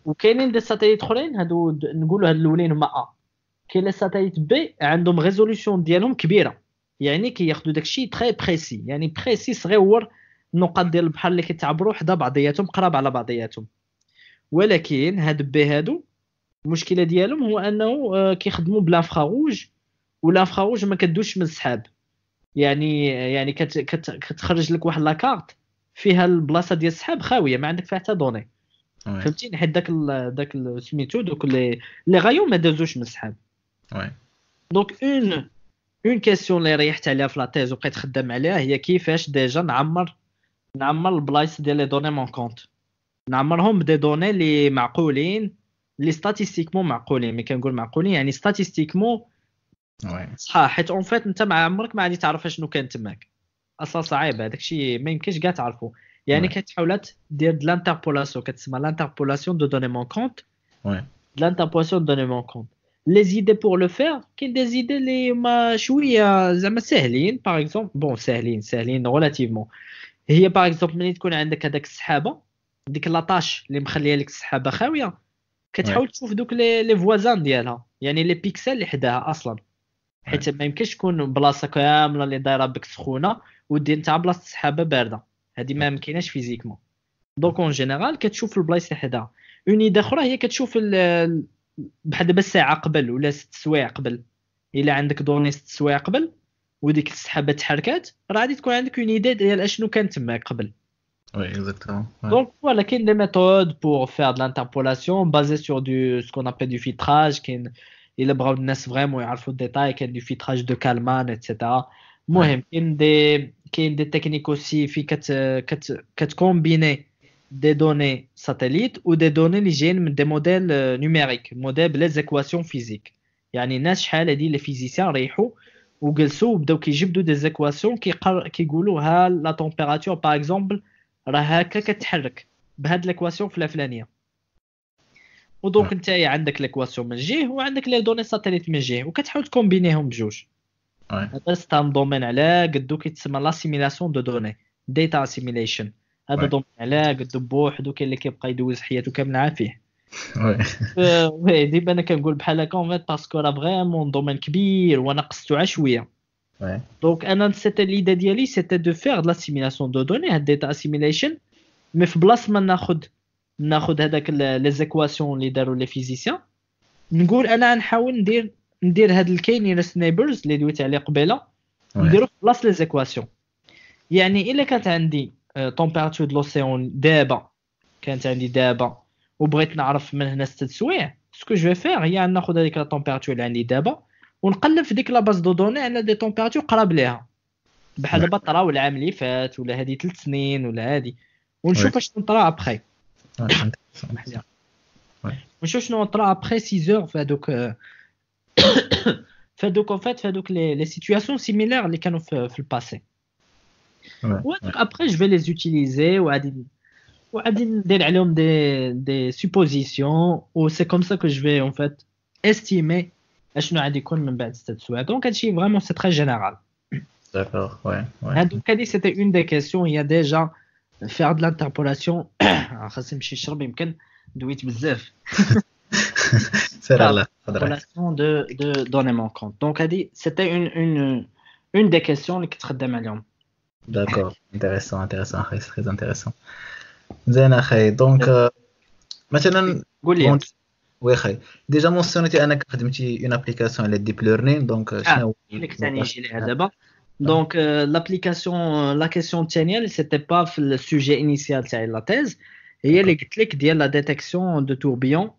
وكاينين des satellites اخرين، هادو نقولوا هاد الاولين هما A. كاين les satellites B عندهم résolution ديالهم كبيرة، يعني كياخذوا داكشي très précis، يعني précis صغيور، النقاط ديال البحر اللي كيتعبروا حدا بعضياتهم قراب على بعضياتهم. ولكن هاد B هادو المشكلة ديالهم هو انه كيخدموا ب l'infrarouge، و l'infrarouge ما كدوش من السحاب، يعني يعني كت كت كتخرج لك واحد la carte فيها البلاصة ديال السحاب خاوية، ما عندك فيها حتى donnée. فهمتيني؟ حيت داك ال داك سميتو دوك les les rayons ما دازوش من السحاب. donc une une question اللي ريحت عليها في la thèse وبقيت خدام عليها هي كيفاش déjà نعمر نعمر البلايص ديال les données manquantes، نعمرهم ب des données اللي معقولين، اللي statistiquement معقولين. ملي كنقول معقولين يعني statistiquement صح، حيت en fait انت مع عمرك ما غادي تعرف شنو كان تماك اصلا، صعيب هذاك الشيء ما يمكنش كاع تعرفو. يعني كتحاول دير de l'interpolation، كتسمى l'interpolation de données manquantes. oui l'interpolation de données manquantes. les idées pour le faire، كاين des idées اللي ما شوية زعما ساهلين، par exemple bon ساهلين ساهلين relativement. هي par exemple ملي تكون عندك هذاك السحابة، ديك la tache اللي مخليه لك السحابة خاوية، كتحاول تشوف دوك les les voisins ديالها، يعني les pixels اللي حداها اصلا. حيت ما يمكنش تكون بلاصة كاملة اللي دايرة بك سخونة ودير انت بلاصة السحابة باردة، هذه ما ممكناش physiquement. donc en général كتشوف البلايص اللي حداها. une idée اخرى هي كتشوف بحال دابا الساعة قبل ولا ست سوايع قبل، الا عندك données ست سوايع قبل وديك السحابة تحركات راه غادي تكون عندك une idée ديال اشنو كان تماك قبل. Oui, exactement. Ouais. Donc voilà, كاين des méthodes pour faire de l'interpolation basées sur du ce qu'on appelle du filtrage، كاين الا بغاو الناس vraiment يعرفوا ال détails كاين du filtrage de Kalman et cetera. المهم كاين des كاين des techniques aussi في كت كت كت combiner des données satellites و des données اللي جايين من des modèles numériques، modèles ب les équations physiques. يعني الناس شحال هادي les physiciens ريحوا وجلسوا وبداو كيجبدوا des équations كيقر كيقولوا ها la température par exemple راه هكا كتحرك بهاد l'équation في الفلانية. و donc انت عندك l'équation من جهة وعندك les données satellites من جهة وكتحاول ت combiner هم بجوج. هذا c'est un domaine على قدو كيتسمى l'assimilation de données، data assimilation. هذا domaine على قدو بوحدو، كاين اللي كيبقى يدوز حياته كاملة فيه. oui oui ديما انا كنقول بحال هكا en fait parce que راه vraiment domaine كبير وانا قصتو عا شوية. donc انا c'était l'idée ديالي c'était de faire de l'assimilation de données، هاد data assimilation، mais في بلاصة ما ناخذ ناخذ هذاك les équations اللي داروا les physiciens، نقول انا نحاول ندير ندير هاد ال k-nearest neighbors اللي دويت عليه قبيلة، نديرو في بلاصة les équations. يعني الا كانت عندي température de l'océan دابا، كانت عندي دابا وبغيت نعرف من هنا ست سوايع، ce que je vais faire هي ناخذ هذيك la température اللي عندي دابا ونقلب في ديك la base de données على des températures قراب ليها، بحال دابا طراو العام اللي فات ولا هادي ثلاث سنين ولا هادي، ونشوف اش طرا après. ونشوف شنو طرا après six heures في هادوك في هادوك en fait في هادوك les les situations similaires اللي كانوا في, في ال passé. وهادوك après je vais les utiliser وغادي وغادي ندير عليهم des des suppositions، و c'est comme ça que je vais en fait estimer اشنو غادي يكون من بعد ستة سوايع. donc هادشي vraiment c'est très général. d'accord oui oui. donc هادي c'était une des questions، هي déjà faire de l'interpolation. خاصني نمشي نشرب يمكن دويت بزاف. سير الله l'interpolation de de données manquantes. donc هادي c'était une une une des questions اللي كنت خدام عليهم. d'accord intéressant intéressant اخي، très intéressant. مزيان اخي. donc مثلا قول لي oui خي، déjà mentionné تي انك خدمتي une application على deep learning، donc شنو اللي كنت نجي ليها دابا؟ donc l'application la question الثانية اللي c'était pas في ال sujet initial تاع la thèse، هي اللي قلت لك ديال la détection de tourbillons،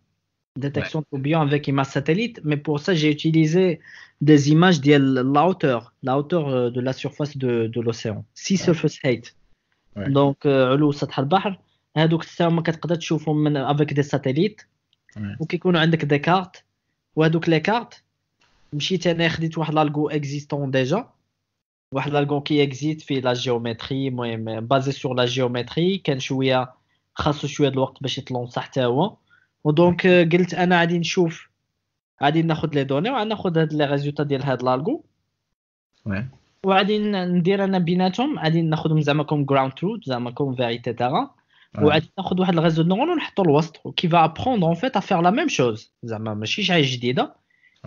détection de tourbillons avec image satellite, mais pour ça j'ai utilisé des images de la hauteur, la hauteur de la surface de, de l'océan, sea surface height. Ouais. Donc علو سطح البحر، هادوك السما كتقدر تشوفهم من avec des satellites. وكيكونوا عندك des cartes، وهادوك les cartes مشيت انا خديت واحد l'algo existant déjà، واحد l'algo qui existe في la géométrie، المهم basé sur la géométrie، كان شوية خاصو شوية د الوقت باش يت lança حتى هو. و donc قلت انا غادي نشوف، غادي ناخذ les données وغادي ناخذ هاد les résultats ديال هاد l'algo، وغادي ندير انا بيناتهم، غادي ناخذهم زعما comme ground truth، زعما comme vérité terrain، وغادي ناخذ واحد ال réseau neuronal ونحطو الوسط qui va apprendre en fait à faire la même chose، زعما ماشي شي حاجة جديدة،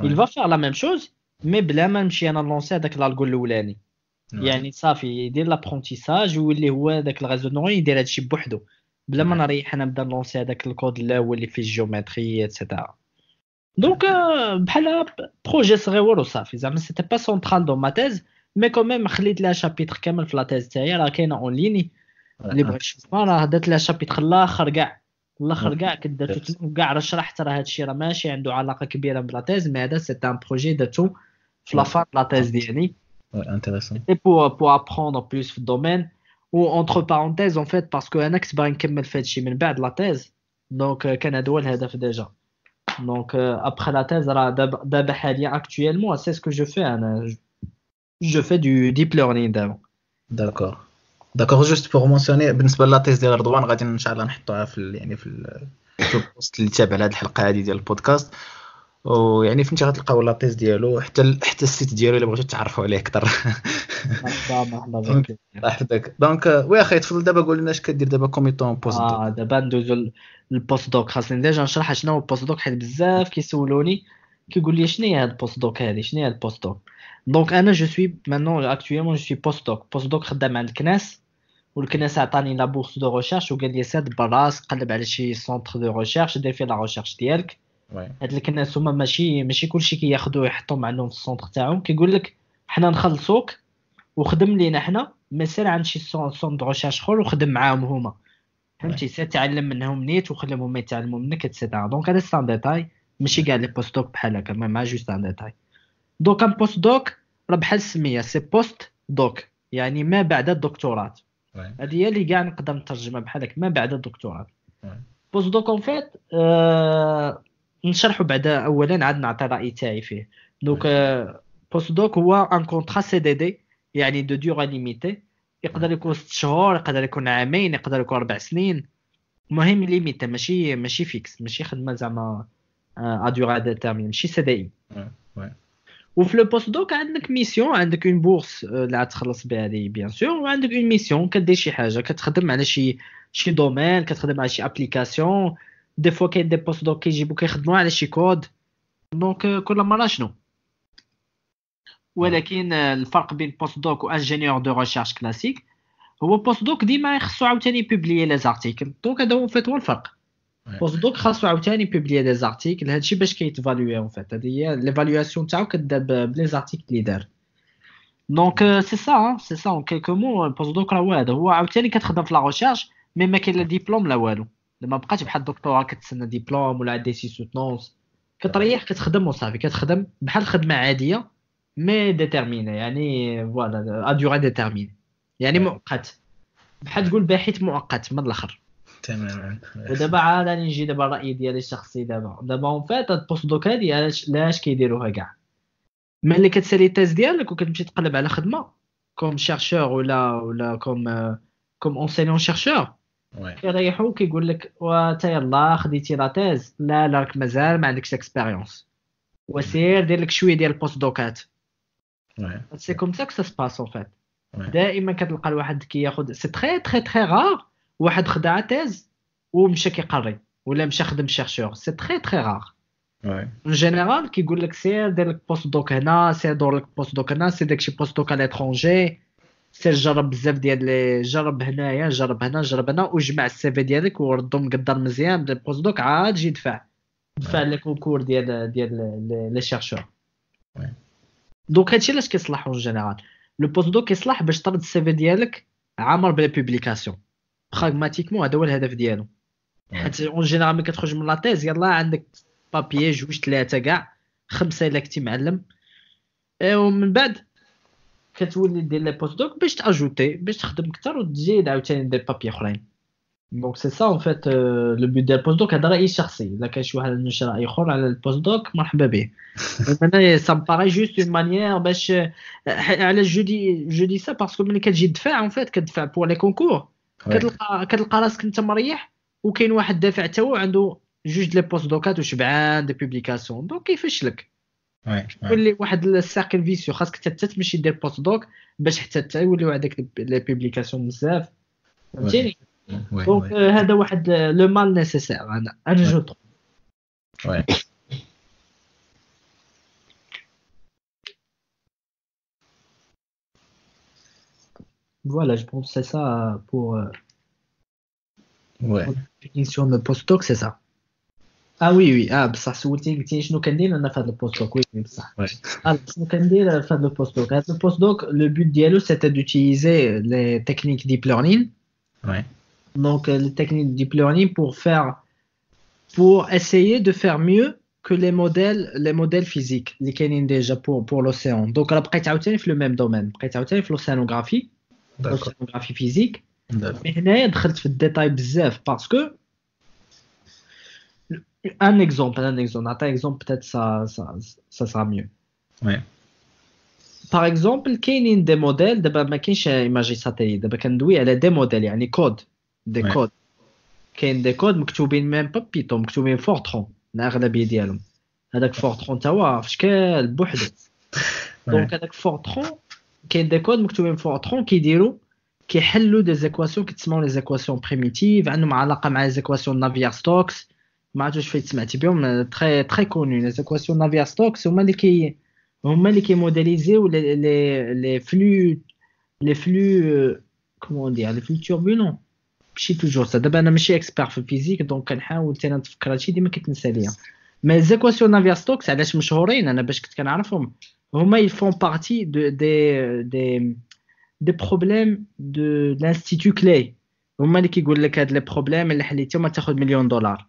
il va faire la même chose mais بلا ما نمشي انا lancer هذاك l'algo الاولاني. يعني صافي يدير l'apprentissage ويولي هو داك ال réseau neuronal يدير هادشي بوحدو بلا ما نريح انا نبدا lancer هذاك الكود الاول اللي فيه ال géométrie et cetera. donc بحال projet صغيور وصافي، زعما c'était pas central dans ma thèse، mais quand même خليت لها chapitre كامل في la thèse تاعي، راه كاينه en ligne اللي بغى يشوفها، راه درت لها chapitre الاخر كاع الاخر كاع كدرتو تما كاع، راه شرحت راه هادشي راه ماشي عنده علاقة كبيرة ب la thèse، mais هذا c'est un projet درتو في la fin la thèse ديالي. intéressant et pour pour apprendre plus في ال domaine. و entre parenthèses en fait parce que انا كنت باغي نكمل في هادشي من بعد la thèse، donc كان هذا هو الهدف déjà. donc après la thèse راه دابا دابا حاليا actuellement c'est ce que je fais، انا je fais du deep learning دابا. d'accord d'accord. juste pour mentionner بالنسبة la thèse ديال رضوان غادي ان شاء الله نحطوها في يعني في في ال post اللي تابع لهاد الحلقة هذه ديال البودكاست، ويعني فهمتي غتلقاو la thèse ديالو حتى حتى ال site ديالو الا بغيتو تعرفوا عليه اكثر. مرحبا مرحبا بك الله يحفظك. donc oui اخي تفضل دابا قول لنا اش كدير دابا comme étant post اه دابا ندوزو لل post-doc. خاصني déjà نشرح شنو هو ال post-doc حيت بزاف كيسولوني كيقول لي شنو هي هاد ال post-doc هادي، شنو هي هاد ال post-doc. donc انا je suis maintenant actuellement je suis post-doc. post-doc خدام عند ال CNES، وال CNES عطاني la bourse de recherche وقال لي ساد براس قلب على شي centre de recherche دير فيه la recherche ديالك. هاد ال CNES هما ماشي ماشي كلشي كياخذوه يحطوهم عندهم في ال centre تاعهم، كيقول لك حنا نخلصوك وخدم لينا حنا، mais سير عند شي centre de recherche اخر وخدم معاهم هما، فهمتي؟ سير تعلم منهم نيت وخليهم هما يتعلموا منك et cetera. donc هذا c'est un détail، ماشي كاع les post-doc بحال هكا، mais juste un détail. donc un post-doc راه بحال السمية، c'est post-doc يعني ما بعد الدكتوراه. هذه هي اللي كاع نقدر نترجمها بحال هكا، ما بعد الدكتوراه. post-doc en fait نشرحوا بعدا اولا عاد نعطي راي تاعي فيه. donc post-doc هو un contrat CDD، يعني de durée limitée، يقدر يكون ست شهور، يقدر يكون عامين، يقدر يكون اربع سنين، المهم limité، ماشي ماشي fixe، ماشي خدمة زعما à durée déterminée، ماشي CDI. وفي le post-doc عندك mission، عندك une bourse اللي غتخلص بها هذه bien sûr، وعندك une mission كدير شي حاجة، كتخدم على شي شي domaine، كتخدم على شي application. des fois كاين des post-docs كيجيبو كيخدموا على شي code. donc كل مرة شنو. ولكن الفرق بين post-doc و ingénieur de recherche classique هو post-doc ديما خصو عاوتاني publier les articles. donc هذا هو fait هو الفرق. post-doc خاصو عاوتاني publier des articles، هادشي باش كيت évaluer en fait. هادي هي l'évaluation تاعو كتبدا ب les articles اللي دار. donc c'est ça c'est ça en quelques mots. post-doc راه هو هذا، هو عاوتاني كتخدم في la recherche mais ما كاين لا ديبلوم لا والو. ما بقاتش بحال الدكتوراه كتسنى ديبلوم ولا des soutenances، كتريح كتخدم وصافي، كتخدم بحال خدمة عادية mais déterminée، يعني voilà à durée déterminée، يعني مؤقت، بحال تقول باحث مؤقت من الاخر. تماما. ودابا عاد غادي نجي دابا الراي ديالي الشخصي دابا. دابا en fait هاد ال post-doc هادي علاش علاش كيديروها كاع؟ ملي كتسالي ال thèse ديالك وكتمشي تقلب على خدمة comme chercheur ولا ولا comme comme enseignant chercheur، كيريحو كيقول لك وتا يلاه خديتي la thèse، لا لا راك مازال ما عندكش expérience، وسير دير لك شوية ديال ال post-doc ات. c'est comme ça que ça se passe en fait. دائما كتلقى الواحد كياخذ c'est très très très rare واحد خدا thèse ومشى كيقري ولا مشى خدم chercheur، c'est très très rare. en général كيقول لك سير دير لك post-doc هنا، سير دور لك post-doc هنا، سير داكشي post-doc à l'étranger، سير جرب بزاف ديال les، جرب هنايا جرب هنا جرب هنا، وجمع ال CV ديالك وردو مقدر مزيان بال post-doc، عاد جي دفع دفع les concours ديال ديال les chercheurs. donc هادشي علاش كيصلح en général le post-doc، كيصلح باش ترد ال CV ديالك عامر ب les publications. pragmatiquement هذا هو الهدف ديالو، حيت en général ملي كتخرج من la thèse يلاه عندك papier جوج ثلاثة كاع خمسة الا كنتي معلم، ومن بعد كتولي دير les post-docs باش ت ajouter باش تخدم اكثر وتزيد عاوتاني des papiers اخرين. donc c'est ça en fait le but ديال ال post-doc. هذا رايي الشخصي، الا كان شي واحد عنده شي راي اخر على ال post-doc مرحبا به. انا ça me paraît juste une manière باش علاش je dis je dis ça parce que ملي كتجي تدفع en fait كتدفع pour les concours، كتلقى كتلقى راسك انت مريح وكاين واحد دافع حتى هو عنده جوج les post-doc ات وشبعان des publications، donc كيفاش لك يولي واحد ال cercle vicieux، خاصك حتى تمشي دير post-doc باش حتى حتى يوليو عندك les publications بزاف، فهمتيني؟ donc هذا واحد le mal nécessaire انا انا je trouve. oui Voilà, je pense que c'est ça pour ouais. Définition de postdoc, c'est ça. Ah oui, oui. Ah, بصح سولتيني قلتي شنو كندير انا في هذا ال post-doc. oui بصح. شنو كندير في هذا ال post-doc؟ هذا ال post-doc le but ديالو c'était d'utiliser les techniques deep learning. Ouais. Donc les techniques deep learning pour faire pour essayer de faire mieux que les modèles les modèles physiques اللي كاينين déjà pour pour l'océan. Donc راه بقيت عاوتاني في le même domaine، بقيت عاوتاني في l'océanographie، l'océanographie physique. mais هنايا دخلت في ال détail بزاف parce que un exemple un exemple نعطي exemple peut-être ça ça ça sera mieux. Oui. Par exemple كاينين des modèles دابا ما كاينش imagerie satellite، دابا كندوي على des modèles يعني code des codes. كاين des codes مكتوبين même pas Python، مكتوبين Fortran الاغلبية ديالهم. هذاك Fortran تا هو في شكل بوحدو. donc هذاك Fortran كاين des codes مكتوبين Fortran كيديروا كيحلوا des équations كيتسموا les équations primitives، عندهم علاقة مع les équations Navier-Stokes، ما عرفتش فايت سمعتي بهم، très très connues les équations Navier-Stokes. هما اللي كي هما اللي كيموديليزيو les les flux les flux comment dire les flux turbulents، ماشي toujours ça. دابا انا ماشي expert في ال physique، donc كنحاول حتى نتفكر هادشي ديما كيتنسى ليا. mais les équations Navier-Stokes علاش مشهورين، انا باش كنت كنعرفهم، هما ils font partie de des des des problèmes de l'institut Clay. هما اللي كيقول لك هاد les problèmes اللي حليتهم تاخذ مليون دولار.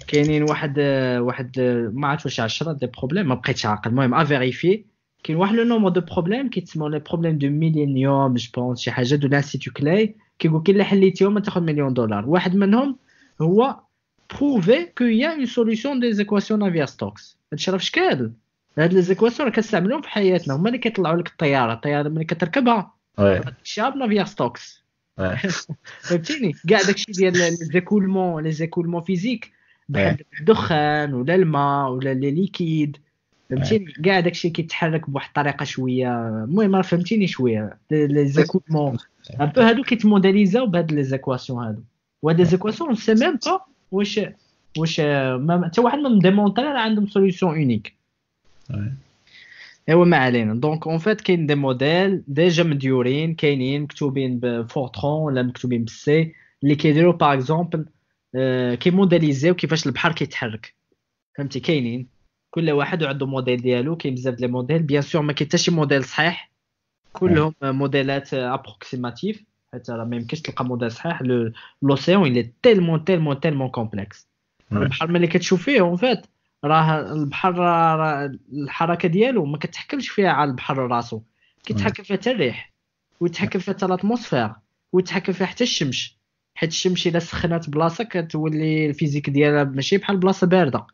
كاينين واحد واحد ما عرفتش واش عشرة des problèmes، ما بقيتش عاقل، المهم à vérifier. كاين واحد le nombre de problèmes كيتسموا les problèmes du millénium je pense، شي حاجة de l'institut Clay، كيقول كي اللي حليتيهم تاخذ مليون دولار. واحد منهم هو prouver qu'il y a une solution des équations Navier-Stokes. هادشي راه في شكال، هاد les équations راه كنستعملوهم في حياتنا، هما اللي كيطلعوا لك الطيارة، الطيارة ملي كتركبها داكشي ب Navier-Stokes، فهمتيني؟ كاع داكشي ديال les écoulements، les écoulements physiques بحال الدخان ولا الماء ولا les liquides، فهمتيني؟ كاع داكشي كيتحرك بواحد الطريقة شوية، المهم راه فهمتيني شوية les écoulements un peu هادو كيتموديليزاو بهاد les équations هادو. وهاد les équations c'est même pas واش واش حتى واحد ما démontré راه عندهم solution unique. ايوا ما علينا. donc en fait كاين des modèles déjà مديورين، كاينين مكتوبين ب Fortran ولا مكتوبين بال C، اللي كيديروا par exemple كيموديليزيو كيفاش البحر كيتحرك، فهمتي؟ كاينين كل واحد وعنده موديل ديالو، كاين بزاف les modèles، bien sûr ما كاين حتى شي موديل صحيح، كلهم موديلات approximatifs، حتى راه ما يمكنش تلقى موديل صحيح. l'océan il est tellement tellement tellement complexe. البحر ملي كتشوف فيه en fait راه البحر راه الحركة ديالو ما كتحكمش فيها على البحر راسو، كيتحكم فيها حتى الريح، ويتحكم فيها حتى l'atmosphère، ويتحكم فيها حتى الشمس، حيت الشمس الا سخنات بلاصة كتولي ال physique ديالها ماشي بحال بلاصة باردة،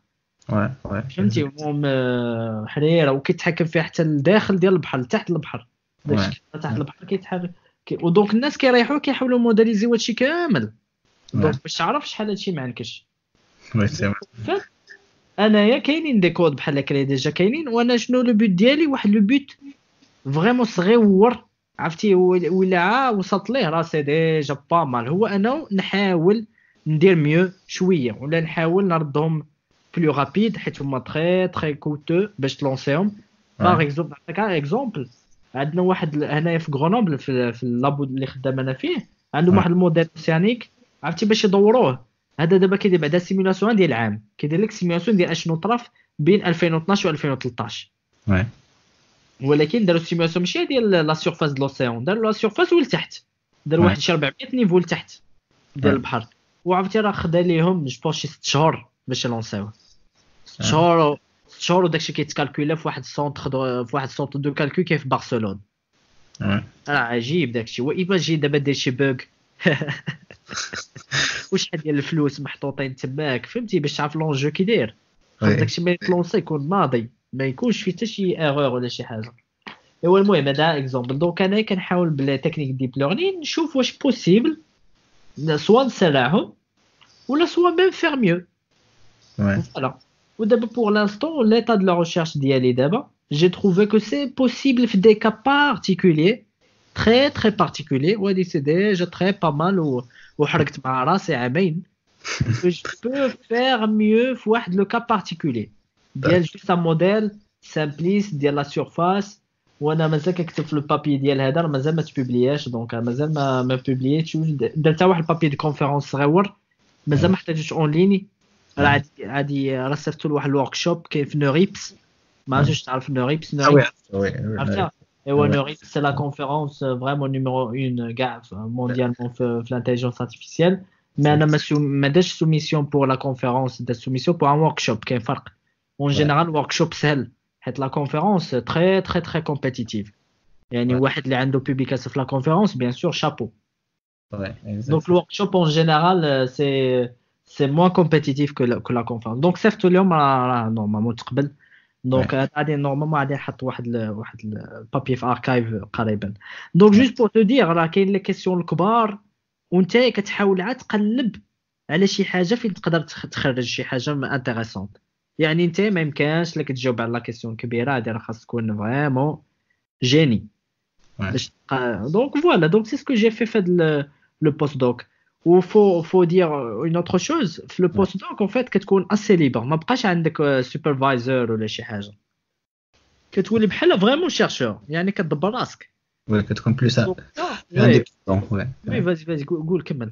oui oui فهمتي؟ المهم حريره، وكيتحكم فيها حتى الداخل ديال البحر، تحت البحر، داكشي تحت البحر كيتحرك. و donc الناس كيريحوا كيحاولوا موديليزيو هادشي كامل، donc باش تعرف شحال هادشي ما عنكش. oui انايا كاينين des codes بحال هكا déjà كاينين، وانا شنو le but ديالي؟ واحد le but vraiment صغيور، عرفتي؟ ولا وصلت ليه راه c'est déjà pas mal، هو انا نحاول ندير mieux شوية، ولا نحاول نردهم plus rapides، حيت هما très très coûteux باش تلونسيهم. par exemple نعطيك exemple، عندنا واحد هنايا في غرونوبل في, في ال labo اللي خدام انا فيه، عندهم واحد ال modèle océanique، عرفتي باش يدوروه هذا دابا كيدير بعدا simulation ديال العام، كيدير لك simulation ديال اشنو طرف بين ألفين واثناش و ألفين وثلاطاش. oui ولكن داروا simulation ماشي ديال la surface de l'océan، داروا la surface ولتحت، داروا واحد شي أربعمية niveau لتحت ديال البحر، وعرفتي راه خدا ليهم je pense شي ست شهور باش يلونسيوه، ست شهور ست شهور وداكشي كيتكالكولا في واحد ال centre في واحد ال centre de calcul كاين في برشلونة. راه عجيب داكشي. و imagine دابا دير شي bug وشحال ديال الفلوس محطوطين تماك، فهمتي؟ باش تعرف l'enjeu كي داير، خاص داكشي ما يتلونسي يكون ماضي، ما يكونش فيه حتى شي erreur ولا شي حاجة. ايوا المهم هذا exemple. donc انا كنحاول ب les techniques deep learning نشوف واش possible soit نسرعهم ولا soit même faire mieux. voilà. ودابا pour l'instant l'état de la recherche ديالي دابا j'ai trouvé que c'est possible في des cas particuliers, très très particuliers, وهادي c'est déjà très pas mal، وحركت مع راسي عامين je peux faire mieux في واحد le cas particulier ديال juste un modèle simpliste ديال la surface. وانا مازال كنكتب في ال papier ديال هذا، راه مازال ما تبوبلياش، donc مازال ما ما بوبليتش، درت واحد ال papier de conférence صغيور مازال ما حطيتوش en ligne، راه عادي عادي راه صيفطو لواحد ال workshop كاين في NeurIPS، ما عرفتش تعرف NeurIPS؟ oui عرفتها؟ ايوا NeurIPS c'est la conférence vraiment numéro واحد كاع mondialement في l'intelligence artificielle. mais انا ما ما درتش soumission pour la conférence، درت soumission pour un workshop. كاين فرق. en général workshop سهل، حيت la conférence très très très compétitive، يعني واحد اللي عنده publication في la conférence bien sûr chapeau. donc ال workshop en général c'est c'est moins compétitif que que la conférence. donc صيفطو اليوم راه normalement تقبل. donc غادي normalement غادي نحط واحد ال واحد ال papier في arXiv قريبا. donc juste pour te dire راه كاين les questions الكبار، وانت كتحاول عاد تقلب على شي حاجة فين تقدر تخرج شي حاجة intéressante. يعني انت ما يمكنش لك تجاوب على la question كبيرة هادي، راه خاص تكون vraiment génie باش. donc voilà، donc c'est ce que j'ai fait في هاد le postdoc. و faut faut dire une autre chose في le postdoc en fait كتكون assez libre، ما بقاش عندك superviseur ولا شي حاجة، كتولي بحال vraiment chercheur، يعني كتدبر راسك. oui كتكون plus indépendant. oui oui vas-y vas-y قول كمل.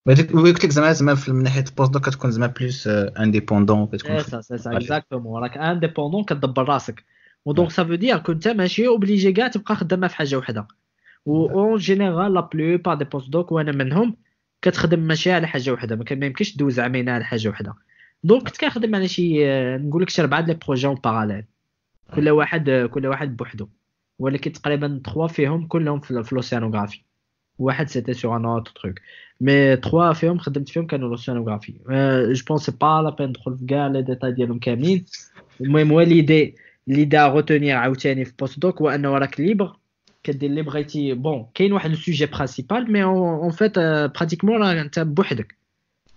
قلت لك زعما زعما من ناحية ال postdoc كتكون زعما plus indépendant، كتكون c'est ça c'est exactement راك indépendant كتدبر راسك. و donc ça veut dire que انت ماشي obligé كاع تبقى خدامه في حاجة وحده. و en général la plupart des postdocs وانا منهم كتخدم ماشي على حاجة وحده، ما يمكنش دوز عامين على حاجة وحده. donc كنت كنخدم على شي نقول لك شي اربعة les projets en parallèle، كل واحد كل واحد بوحدو، ولكن تقريبا ثلاثة فيهم كلهم في l'océanographie، واحد c'était sur un autre truc، mais ثلاثة فيهم خدمت فيهم كانوا l'océanographie. je pense pas la peine ندخل في كاع les détails ديالهم كاملين. المهم هو l'idée l'idée à retenir عاوتاني في postdoc هو انه راك libre كدير اللي بغيتي. bon كاين واحد ال sujet principal mais en fait pratiquement راه انت بوحدك،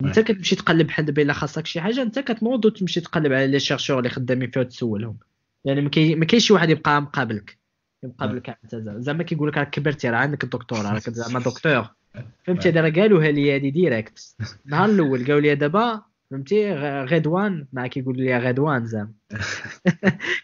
انت كتمشي تقلب بحال دابا الا خاصك شي حاجة انت كتنوض وتمشي تقلب على les chercheurs اللي خدامين فيها وتسولهم، يعني ما كاينش شي واحد يبقى مقابلك يمقابلك انت زعما كيقول لك راك كبرتي راه عندك الدكتوراه راك زعما دكتور، فهمتي؟ راه قالوها لي هادي direct النهار الاول، قالوا لي دابا فهمتي غدوان، مع كيقول لي غدوان زعما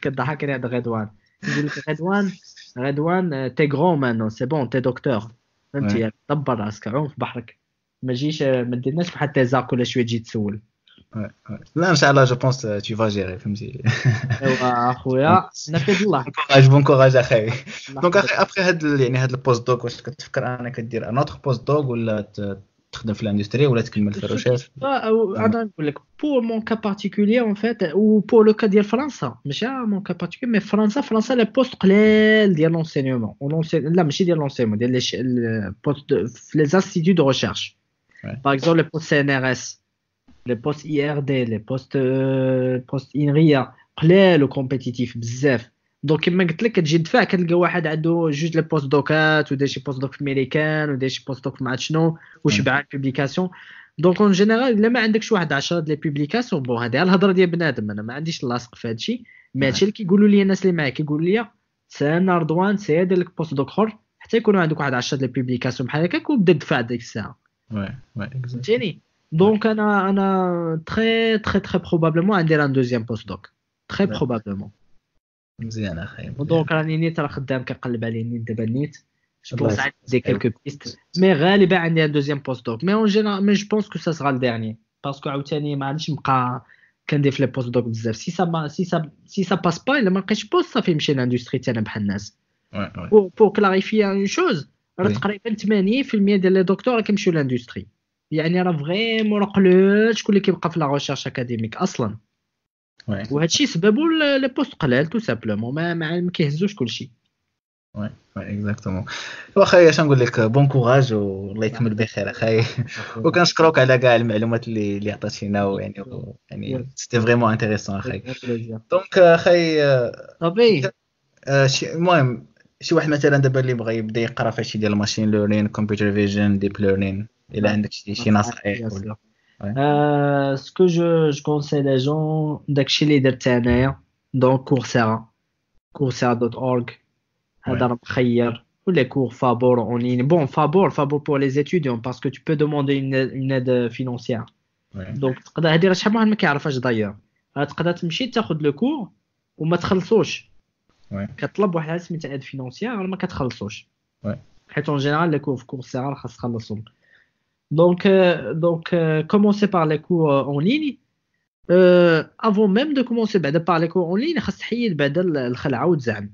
كضحكني هذا غدوان، يقول لك غدوان غدوان t'es grand maintenant c'est bon t'es docteur، فهمتي؟ دبر راسك عوم في بحرك، ما تجيش ما ديرناش بحال thésard كل شوية تجي تسول. لا ان شاء الله je pense tu vas gérer، فهمتي؟ ايوا اخويا نفيد الله. courage bon courage اخي. donc اخي après هاد يعني هاد ال postdoc واش كتفكر انك دير un autre postdoc ولا تخدم في l'industrie ولا تكمل في ال recherche؟ انا نقول لك pour mon cas particulier en fait ou pour le cas ديال فرنسا، ماشي mon cas particulier mais فرنسا فرنسا les postes قلال ديال l'enseignement، لا ماشي ديال l'enseignement، ديال les postes في les instituts de recherche، par exemple les postes CNRS، les postes IRD، les postes postes INRIA قلال و compétitifs بزاف. donc كما قلت لك كتجي تدفع كتلقى واحد عنده جوج les postdoc ات وداير شي postdoc في ميريكان وداير شي postdoc مع شنو وشبعان publications. donc en général الا ما عندكش واحد عشرة les publications، bon هذه الهضرة ديال بنادم، انا ما عنديش اللاصق في هادشي، mais هادشي اللي كيقولوا لي الناس اللي معايا كيقولوا لي سير رضوان سير دير لك postdoc اخر حتى يكونوا عندك واحد عشرة les publications بحال هكاك وبدا تدفع ديك الساعة. oui oui فهمتيني؟ donc انا انا très très très probablement عندي un deuxième postdoc très probablement. مزيان اخي. donc راني نيت راه خدام كنقلب عليه نيت دابا نيت، je pense عندي quelques pistes mais غالبا عندي un deuxième postdoc، mais en général mais je pense que ça sera le dernier parce que عاوتاني ما غاديش نبقى كندير في les postdocs بزاف. si ça si ça si ça passe pas الا ما لقيتش poste صافي نمشي l'industrie تاعنا بحال الناس. pour clarifier une chose راه تقريبا ثمانين بالمية ديال les docteurs كيمشيو l'industrie، يعني راه vraiment راه قليل شكون اللي كيبقى في la recherche académique اصلا. وهذا الشيء سببو les postes قلال tout simplement، ما ما كيهزوش كلشي. oui oui exactement. واخا اش نقول لك bon courage والله يكمل بخير اخي، وكنشكرك على كاع المعلومات اللي اللي عطيتينا، ويعني يعني c'était vraiment intéressant اخي. donc اخي صافي المهم شي واحد مثلا دابا اللي بغى يبدا يقرا في شي ديال ال machine learning، computer vision، deep learning، الا عندك شي شي نصائح ولا؟ ce que je je conseille les gens داكشي اللي درت انايا، donc Coursera، Coursera dot org، هذا راه مخير، ولا cours فابور en ligne. bon فابور فابور pour les étudiants parce que tu peux demander une aide financière. donc تقدر هادي راه شحال من واحد ما كيعرفهاش دايوغ، راه تقدر تمشي تاخذ le cours وما تخلصوش، كطلب واحد سميتها aide financière ما كتخلصوش، حيت en général les cours في Coursera خاص تخلصهم. Donc, euh, donc euh, commencer par les cours en ligne. Euh, avant même de commencer par les cours en ligne, خاص تحيد بعدا الخلعة وتزعم.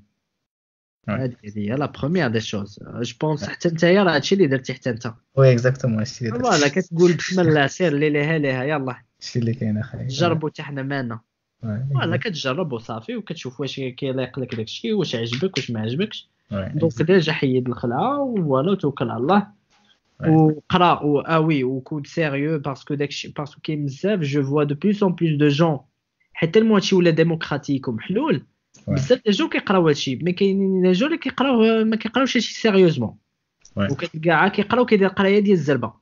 هذه هي la première des choses. Je pense حتى نتايا راه هادشي اللي درتي حتى انت. oui exactement هادشي اللي درت. voilà كتقول بسم الله سير اللي ليها ليها يلاه. هادشي اللي كاين اخي. جربوا حتى حنا مالنا. voilà كتجرب وصافي وكتشوف واش كيليق لك داكشي، واش عجبك واش ما عجبكش. donc déjà حيد الخلعة voilà وتوكل على الله. وقرا و ah oui وكون sérieux parce que داكشي parce que كاين بزاف je vois de plus en plus de gens حيت tellement هادشي ولا démocratique ومحلول بزاف des gens كيقراو هادشي، mais كاينين des gens اللي كيقراو ما كيقراوش هادشي sérieusement، وكتلقى كيقراو كيدير قرايه ديال الزربه.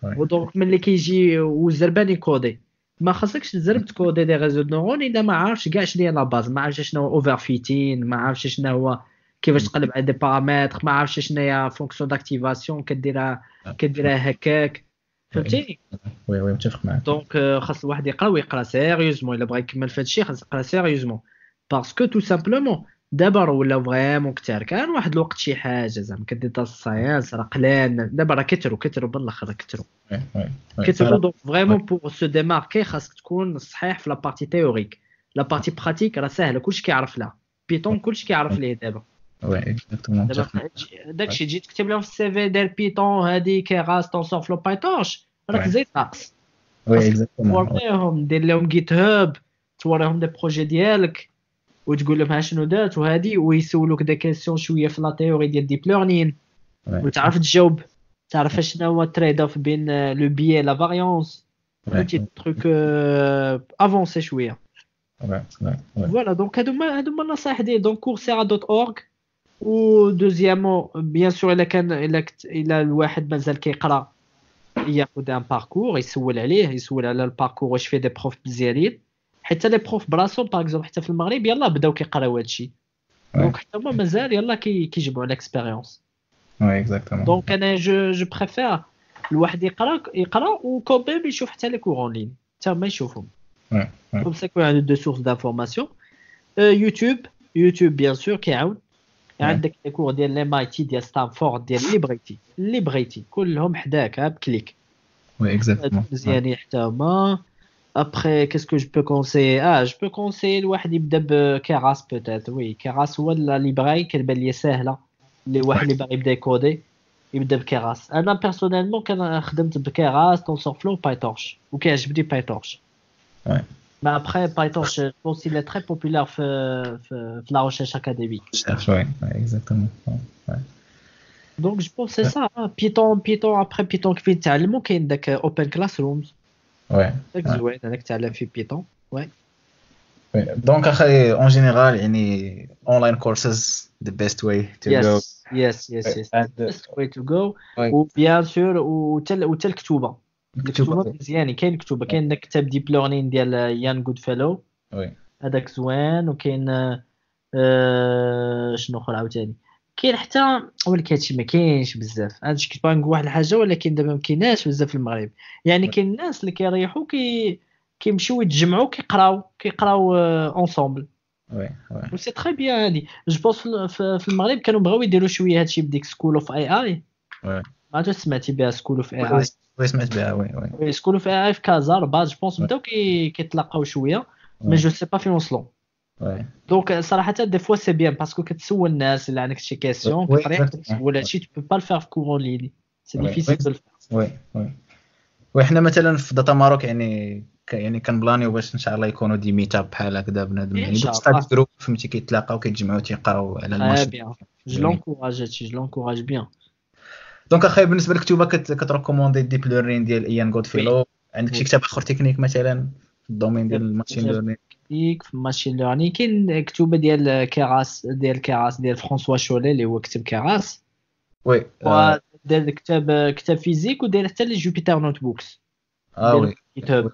و donc ملي كيجي والزربان يكودي، ما خاصكش تزرب تكودي des réseaux neurones الا ما عارفش كاع شنو هي la base، ما عارفش شنو هو overfitting، ما عارفش شنو هو كيفاش تقلب على des paramètres، ما عرفتش شنو هي fonction d'activation كديرها كديرها هكاك، فهمتيني؟ oui oui متفق معاك. donc خاص الواحد يقرا ويقرا sérieusement، الا بغى يكمل في هادشي خاص يقرا sérieusement، parce que tout simplement دابا راه ولاو vraiment كثار. كان واحد الوقت شي حاجة زعما كدير data science راه قلال، دابا راه كثروا كثروا بالاخر كثروا كثروا. donc vraiment pour se démarquer خاصك تكون صحيح في la partie théorique. la partie pratique راه ساهله، كلشي كيعرف لها Python، كلشي كيعرف ليه دابا. oui exactement. داكشي تجي تكتب لهم في ال CV دير Python هادي Keras TensorFlow PyTorch راك زيد ناقص. oui exactement. توريهم، دير لهم GitHub، توريهم des projets ديالك وتقول لهم ها شنو دارت وهادي، ويسولوك des questions شوية في la théorie ديال deep learning وتعرف تجاوب، تعرف شنو هو ال trade-off بين le biais la variance، فهمتي trucs avancés شوية. voilà donc هادو هما هادو هما النصائح ديالي. donc Coursera dot org. و deuxièmement bien sûr الا كان الا الا الواحد مازال كيقرا ياخذ un parcours، يسول عليه، يسول على ال parcours واش فيه des profs مزيانين، حتى les profs براسهم par exemple حتى في المغرب يلاه بداو كيقراو هادشي، donc حتى هما مازال يلاه كيجمعوا l'expérience. oui exactement. donc انا je je préfère الواحد يقرا يقرا و quand même يشوف حتى les cours en ligne حتى هما يشوفهم، comme ça يكون عنده deux sources d'information. YouTube YouTube bien sûr كيعاون، عندك les cours ديال MIT ديال ستانفورد ديال اللي بغيتي اللي بغيتي كلهم حداك ب clic. oui exactement مزيانين حتى هما. Après, qu'est-ce que je peux conseiller؟ Ah, je peux conseiller الواحد يبدا ب Keras peut-être. Oui, Keras هو la librairie كتبان لي ساهله اللي واحد اللي باغي يبدا يكودي يبدا ب Keras. انا personnellement كان خدمت ب Keras TensorFlow PyTorch وكيعجبني PyTorch. Oui. Mais après, PyTorch, je pense qu'il est très populaire في في la recherche académique. Recherche, ouais, ouais, exactement. Ouais. Donc je pense c'est ça. Python, Python après Python كيف تعلموا كاين داك Open Classrooms. Ouais. داك زوين هذاك تعلم فيه Python. Ouais. Oui. Donc اخي en général يعني online courses the best way to yes. go. Yes, yes, yes. And the best way to go. Ouais. و bien sûr وتل وتل الكتوبه. الكتوبه مزيانين، كاين كتوبة، كاين داك كتاب Deep Learning ديال Ian Goodfellow. oui هذاك زوين. وكاين آه شنو اخر عاوتاني كاين حتى، ولكن هادشي ما كاينش بزاف. هادشي كنت باغي نقول واحد الحاجة ولكن دابا ما كايناش بزاف في المغرب. يعني كاين الناس اللي كيريحوا كي كيمشيو يتجمعوا كيقراو كيقراو ensemble. oui oui و c'est très bien هادي. je pense في المغرب كانوا بغاو يديروا شوية هادشي بديك School of AI. oui ما عرفتش سمعتي بها School of AI؟ oui سمعت بها. oui oui oui School of AI في كازا رباط je pense بداو كيتلاقاو شوية، mais je sais pas فين وصلوا. oui donc صراحة des fois c'est bien parce que كتسول الناس اللي عندك شي question كتريح تسول هادشي، tu peux pas le faire في cours en ligne، c'est difficile de le faire. oui oui oui حنا مثلا في Data Maroc يعني يعني كنبلانيو باش ان شاء الله يكونوا des meetups بحال هكذا بنادم، يعني دوك study group فهمتي، كيتلاقاو كيتجمعوا تيقراو على ال machine. je l'encourage هادشي، je l'encourage bien. donc اخي بالنسبة للكتوبه كتريكوموندي Deep Learning ديال Ian Goodfellow. عندك شي كتاب اخر تكنيك مثلا في ال domaine ديال ال machine learning؟ في ال machine learning كاين كتوبة ديال Keras ديال Keras ديال François Chollet اللي هو كتب Keras. oui دار كتاب كتاب physique وداير حتى les Jupyter Notebooks. اه oui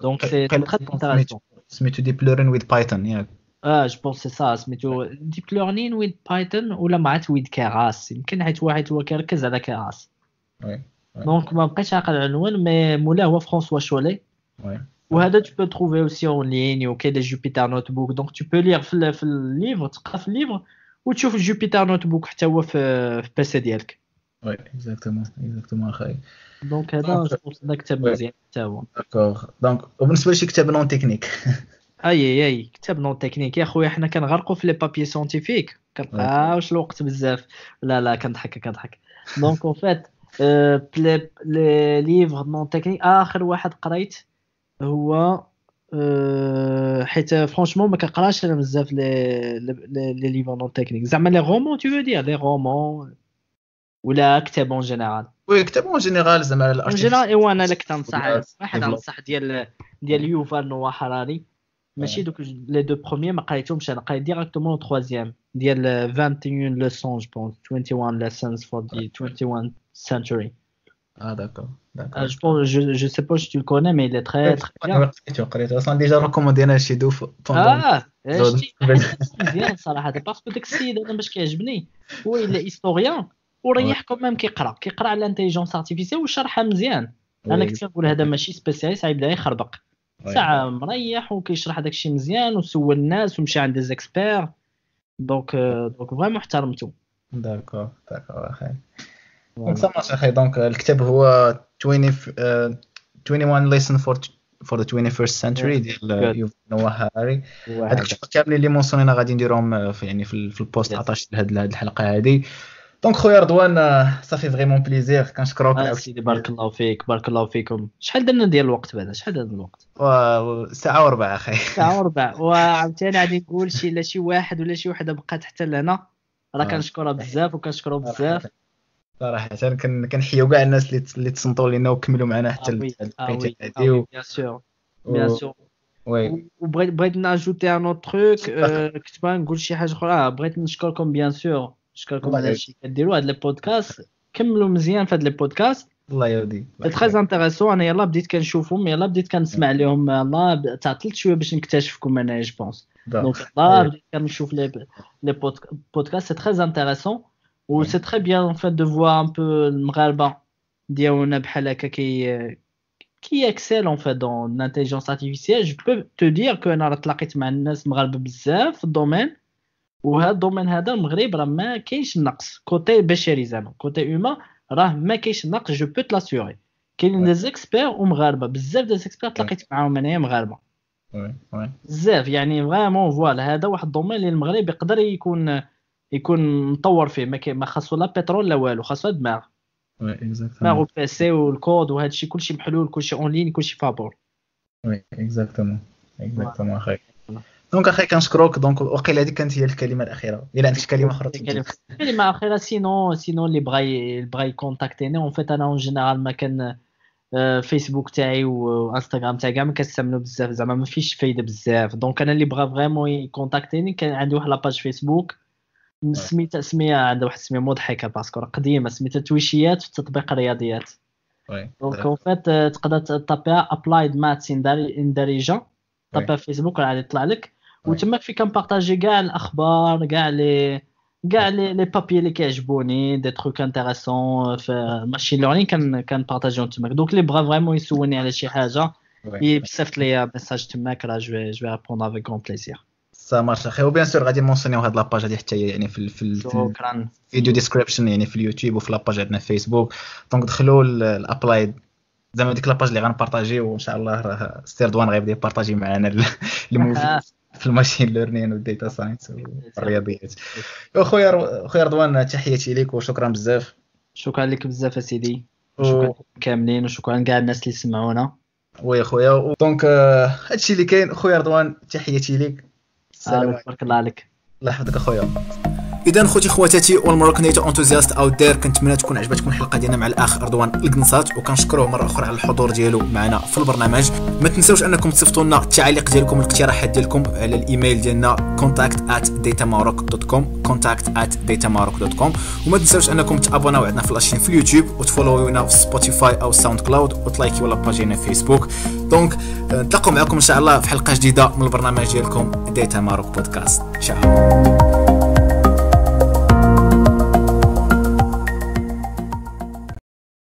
donc c'est très intéressant. سميتو Deep Learning with Python ياك؟ اه je pense c'est ça، سميتو Deep Learning with Python ولا مع with Keras يمكن، حيت واحد هو كيركز على Keras. oui donc ما بقيتش عاقل على العنوان، mais مولاه هو François Chollet. oui وهذا tu peux trouver aussi en ligne وكاين les Jupyter Notebook، donc tu peux lire في في ال livre، تقرا في ال livre وتشوف ال Jupyter Notebook حتى هو في في PC ديالك. oui exactement exactement اخي. donc هذا je pense هذا كتاب مزيان حتى هو. d'accord. donc وبالنسبة لشي كتاب non technique؟ اي اي كتاب non technique يا خويا، حنا كنغرقوا في les papiers scientifiques، كنلقاوش الوقت بزاف. لا لا كنضحك كنضحك. donc en fait les livres non techniques اخر واحد قريت هو حيت franchement ما كنقراش انا بزاف les les livres non techniques، زعما les romans tu veux dire les romans ولا كتاب en général؟ oui كتاب en général زعما en général. ايوا انا لك تنصح واحد، انصح ديال ديال Yuval Noah Harari، ماشي دوك les deux premiers ما قريتهمش انا، قريت directement le troisième ديال واحد وعشرين leçons je pense، واحد وعشرين lessons for the twenty-first century. اه d'accord d'accord. Je pense, je je sais pas si tu le connais, mais il est très très bien. قريتو قريتو اصلا déjà recommandينا شي deux fois. اه شتي مزيان صراحة، parce que داك السيد انا باش كيعجبني هو il est historien وريح quand même كيقرا كيقرا على l'intelligence artificielle وشرحها مزيان. انا كنت كنقول هذا ماشي spécialiste غيبدا يخربق، ساعة مريح وكيشرح داك الشيء مزيان وسول الناس ومشى عند des experts، donc donc vraiment احترمته. d'accord d'accord اخي، donc ça marche اخي. donc الكتاب هو عشرين واحد وعشرين lesson for for the twenty-first century ديال يوفال نوح هاري. هاد الكتب كاملين اللي mentionينا غادي نديرهم في يعني في, في ال post attaché لهاد الحلقة هادي. donc خويا رضوان ça fait vraiment plaisir، كنشكروك. آه سيدي بارك الله فيك، بارك الله فيكم. شحال درنا ديال الوقت بعدا؟ شحال درنا الوقت؟ ساعة وربع اخي. ساعة وربع. وعاوتاني غادي نقول شي لا شي واحد ولا شي وحده بقات حتى لهنا راه كنشكرها بزاف وكنشكرو بزاف صراحة. كنحيو كاع الناس اللي اللي تصنتوا لينا وكملوا معنا حتى الوقيته هادي. bien sûr bien sûr. oui، وبغيت بغيت ن ajouter un autre truc، كنت باغي نقول شي حاجة اخرى. بغيت نشكركم bien sûr، نشكركم على هادشي كديروا هاد les podcasts، كملوا مزيان في هاد les podcasts. الله يهديك، très intéressant. انا يلا بديت كنشوفهم، يلا بديت كنسمع لهم، يلا تعطلت شوية باش نكتشفكم انا je pense. donc يلا بديت كنشوف les les podcasts، c'est très intéressant و c'est très bien en fait de voir un peu المغاربة ديالنا بحال هكا كي qui excellent en fait dans l'intelligence artificielle. Je peux te dire que انا راه تلاقيت مع الناس مغاربة بزاف في ال domaine، وهذا ال domaine هذا المغرب راه ما كاينش النقص côté بشري، زعما côté humain راه ما كاينش النقص، je peux te l'assurer. كاينين des experts ومغاربه بزاف، des experts تلاقيت معاهم انايا مغاربة oui oui بزاف، يعني vraiment voilà هذا واحد ال domaine اللي المغرب يقدر يكون يكون مطور فيه، ما, ما خاصو لا بترول لا والو، خاصو دماغ oui exactement، دماغ و PC وال code وهذا الشيء كلشي محلول، كلشي en ligne، كلشي فابور. oui exactement exactement اخي. donc اخي كنشكروك. donc وقيله هذه كانت هي الكلمة الاخيرة، الا عندك كلمة اخرى. كلمة اخيرة، sinon sinon اللي بغى بغى ي contacterني en fait انا en général ما كان فيسبوك تاعي وانستغرام تاعي كاع ما كنستعملو بزاف، زعما ما فيش فايده بزاف. donc انا اللي بغى vraiment ي contacterني كان عندي واحد la page فيسبوك سميتها سميه عندها واحد السمية مضحكة parce que قديمة، سميتها تويشيات في تطبيق الرياضيات. donc en fait تقدر taperها applied maths in داريجا، taperها فيسبوك راه غادي يطلع لك، وتماك في كن partager كاع الاخبار، كاع les كاع les les papiers اللي كيعجبوني، des trucs intéressants في machine learning كان كن partagerهم تماك. donc اللي بغا vraiment يسولني على شي حاجة يصيفط لي message تماك، راه je vais je vais répondre avec grand plaisir. ça marche اخي، و bien sûr غادي mentionيو هاد la page هادي حتى هي يعني في في شكرا video description يعني في اليوتيوب وفي la page عندنا في فيسبوك. donc دخلوا ال applied زعما ديك la page اللي غن partager، وان شاء الله راه سي رضوان غيبدا ي partager معنا المفيد في ال machine learning وال data science والرياضيات. خويا خويا رضوان تحياتي لك وشكرا بزاف. شكرا لك بزاف اسيدي، شكرا كاملين وشكرا كاع الناس اللي سمعونا. oui خويا، donc هادشي اللي كاين. خويا رضوان تحياتي لك. السلام، تبارك الله عليك. الله يحفظك اخويا. اذا خوتي خواتاتي وال Moroccan data enthusiasts out there، كنتمنى تكون عجبتكم الحلقة ديالنا مع الاخ رضوان القنصات، وكنشكروه مرة اخرى على الحضور ديالو معنا في البرنامج. ما تنساوش انكم تصيفطوا لنا التعاليق ديالكم والاقتراحات ديالكم على الايميل ديالنا contact at datamaroc dot com، contact at datamaroc dot com. وما تنساوش انكم تabonnاو عندنا في la chaîne في اليوتيوب وتfollowيونا في سبوتيفاي او ساوند كلاود وتlikيو la page ديالنا في فيسبوك. donc نتلاقاو معكم ان شاء الله في حلقة جديدة من البرنامج ديالكم Data Maroc Podcast. ciao.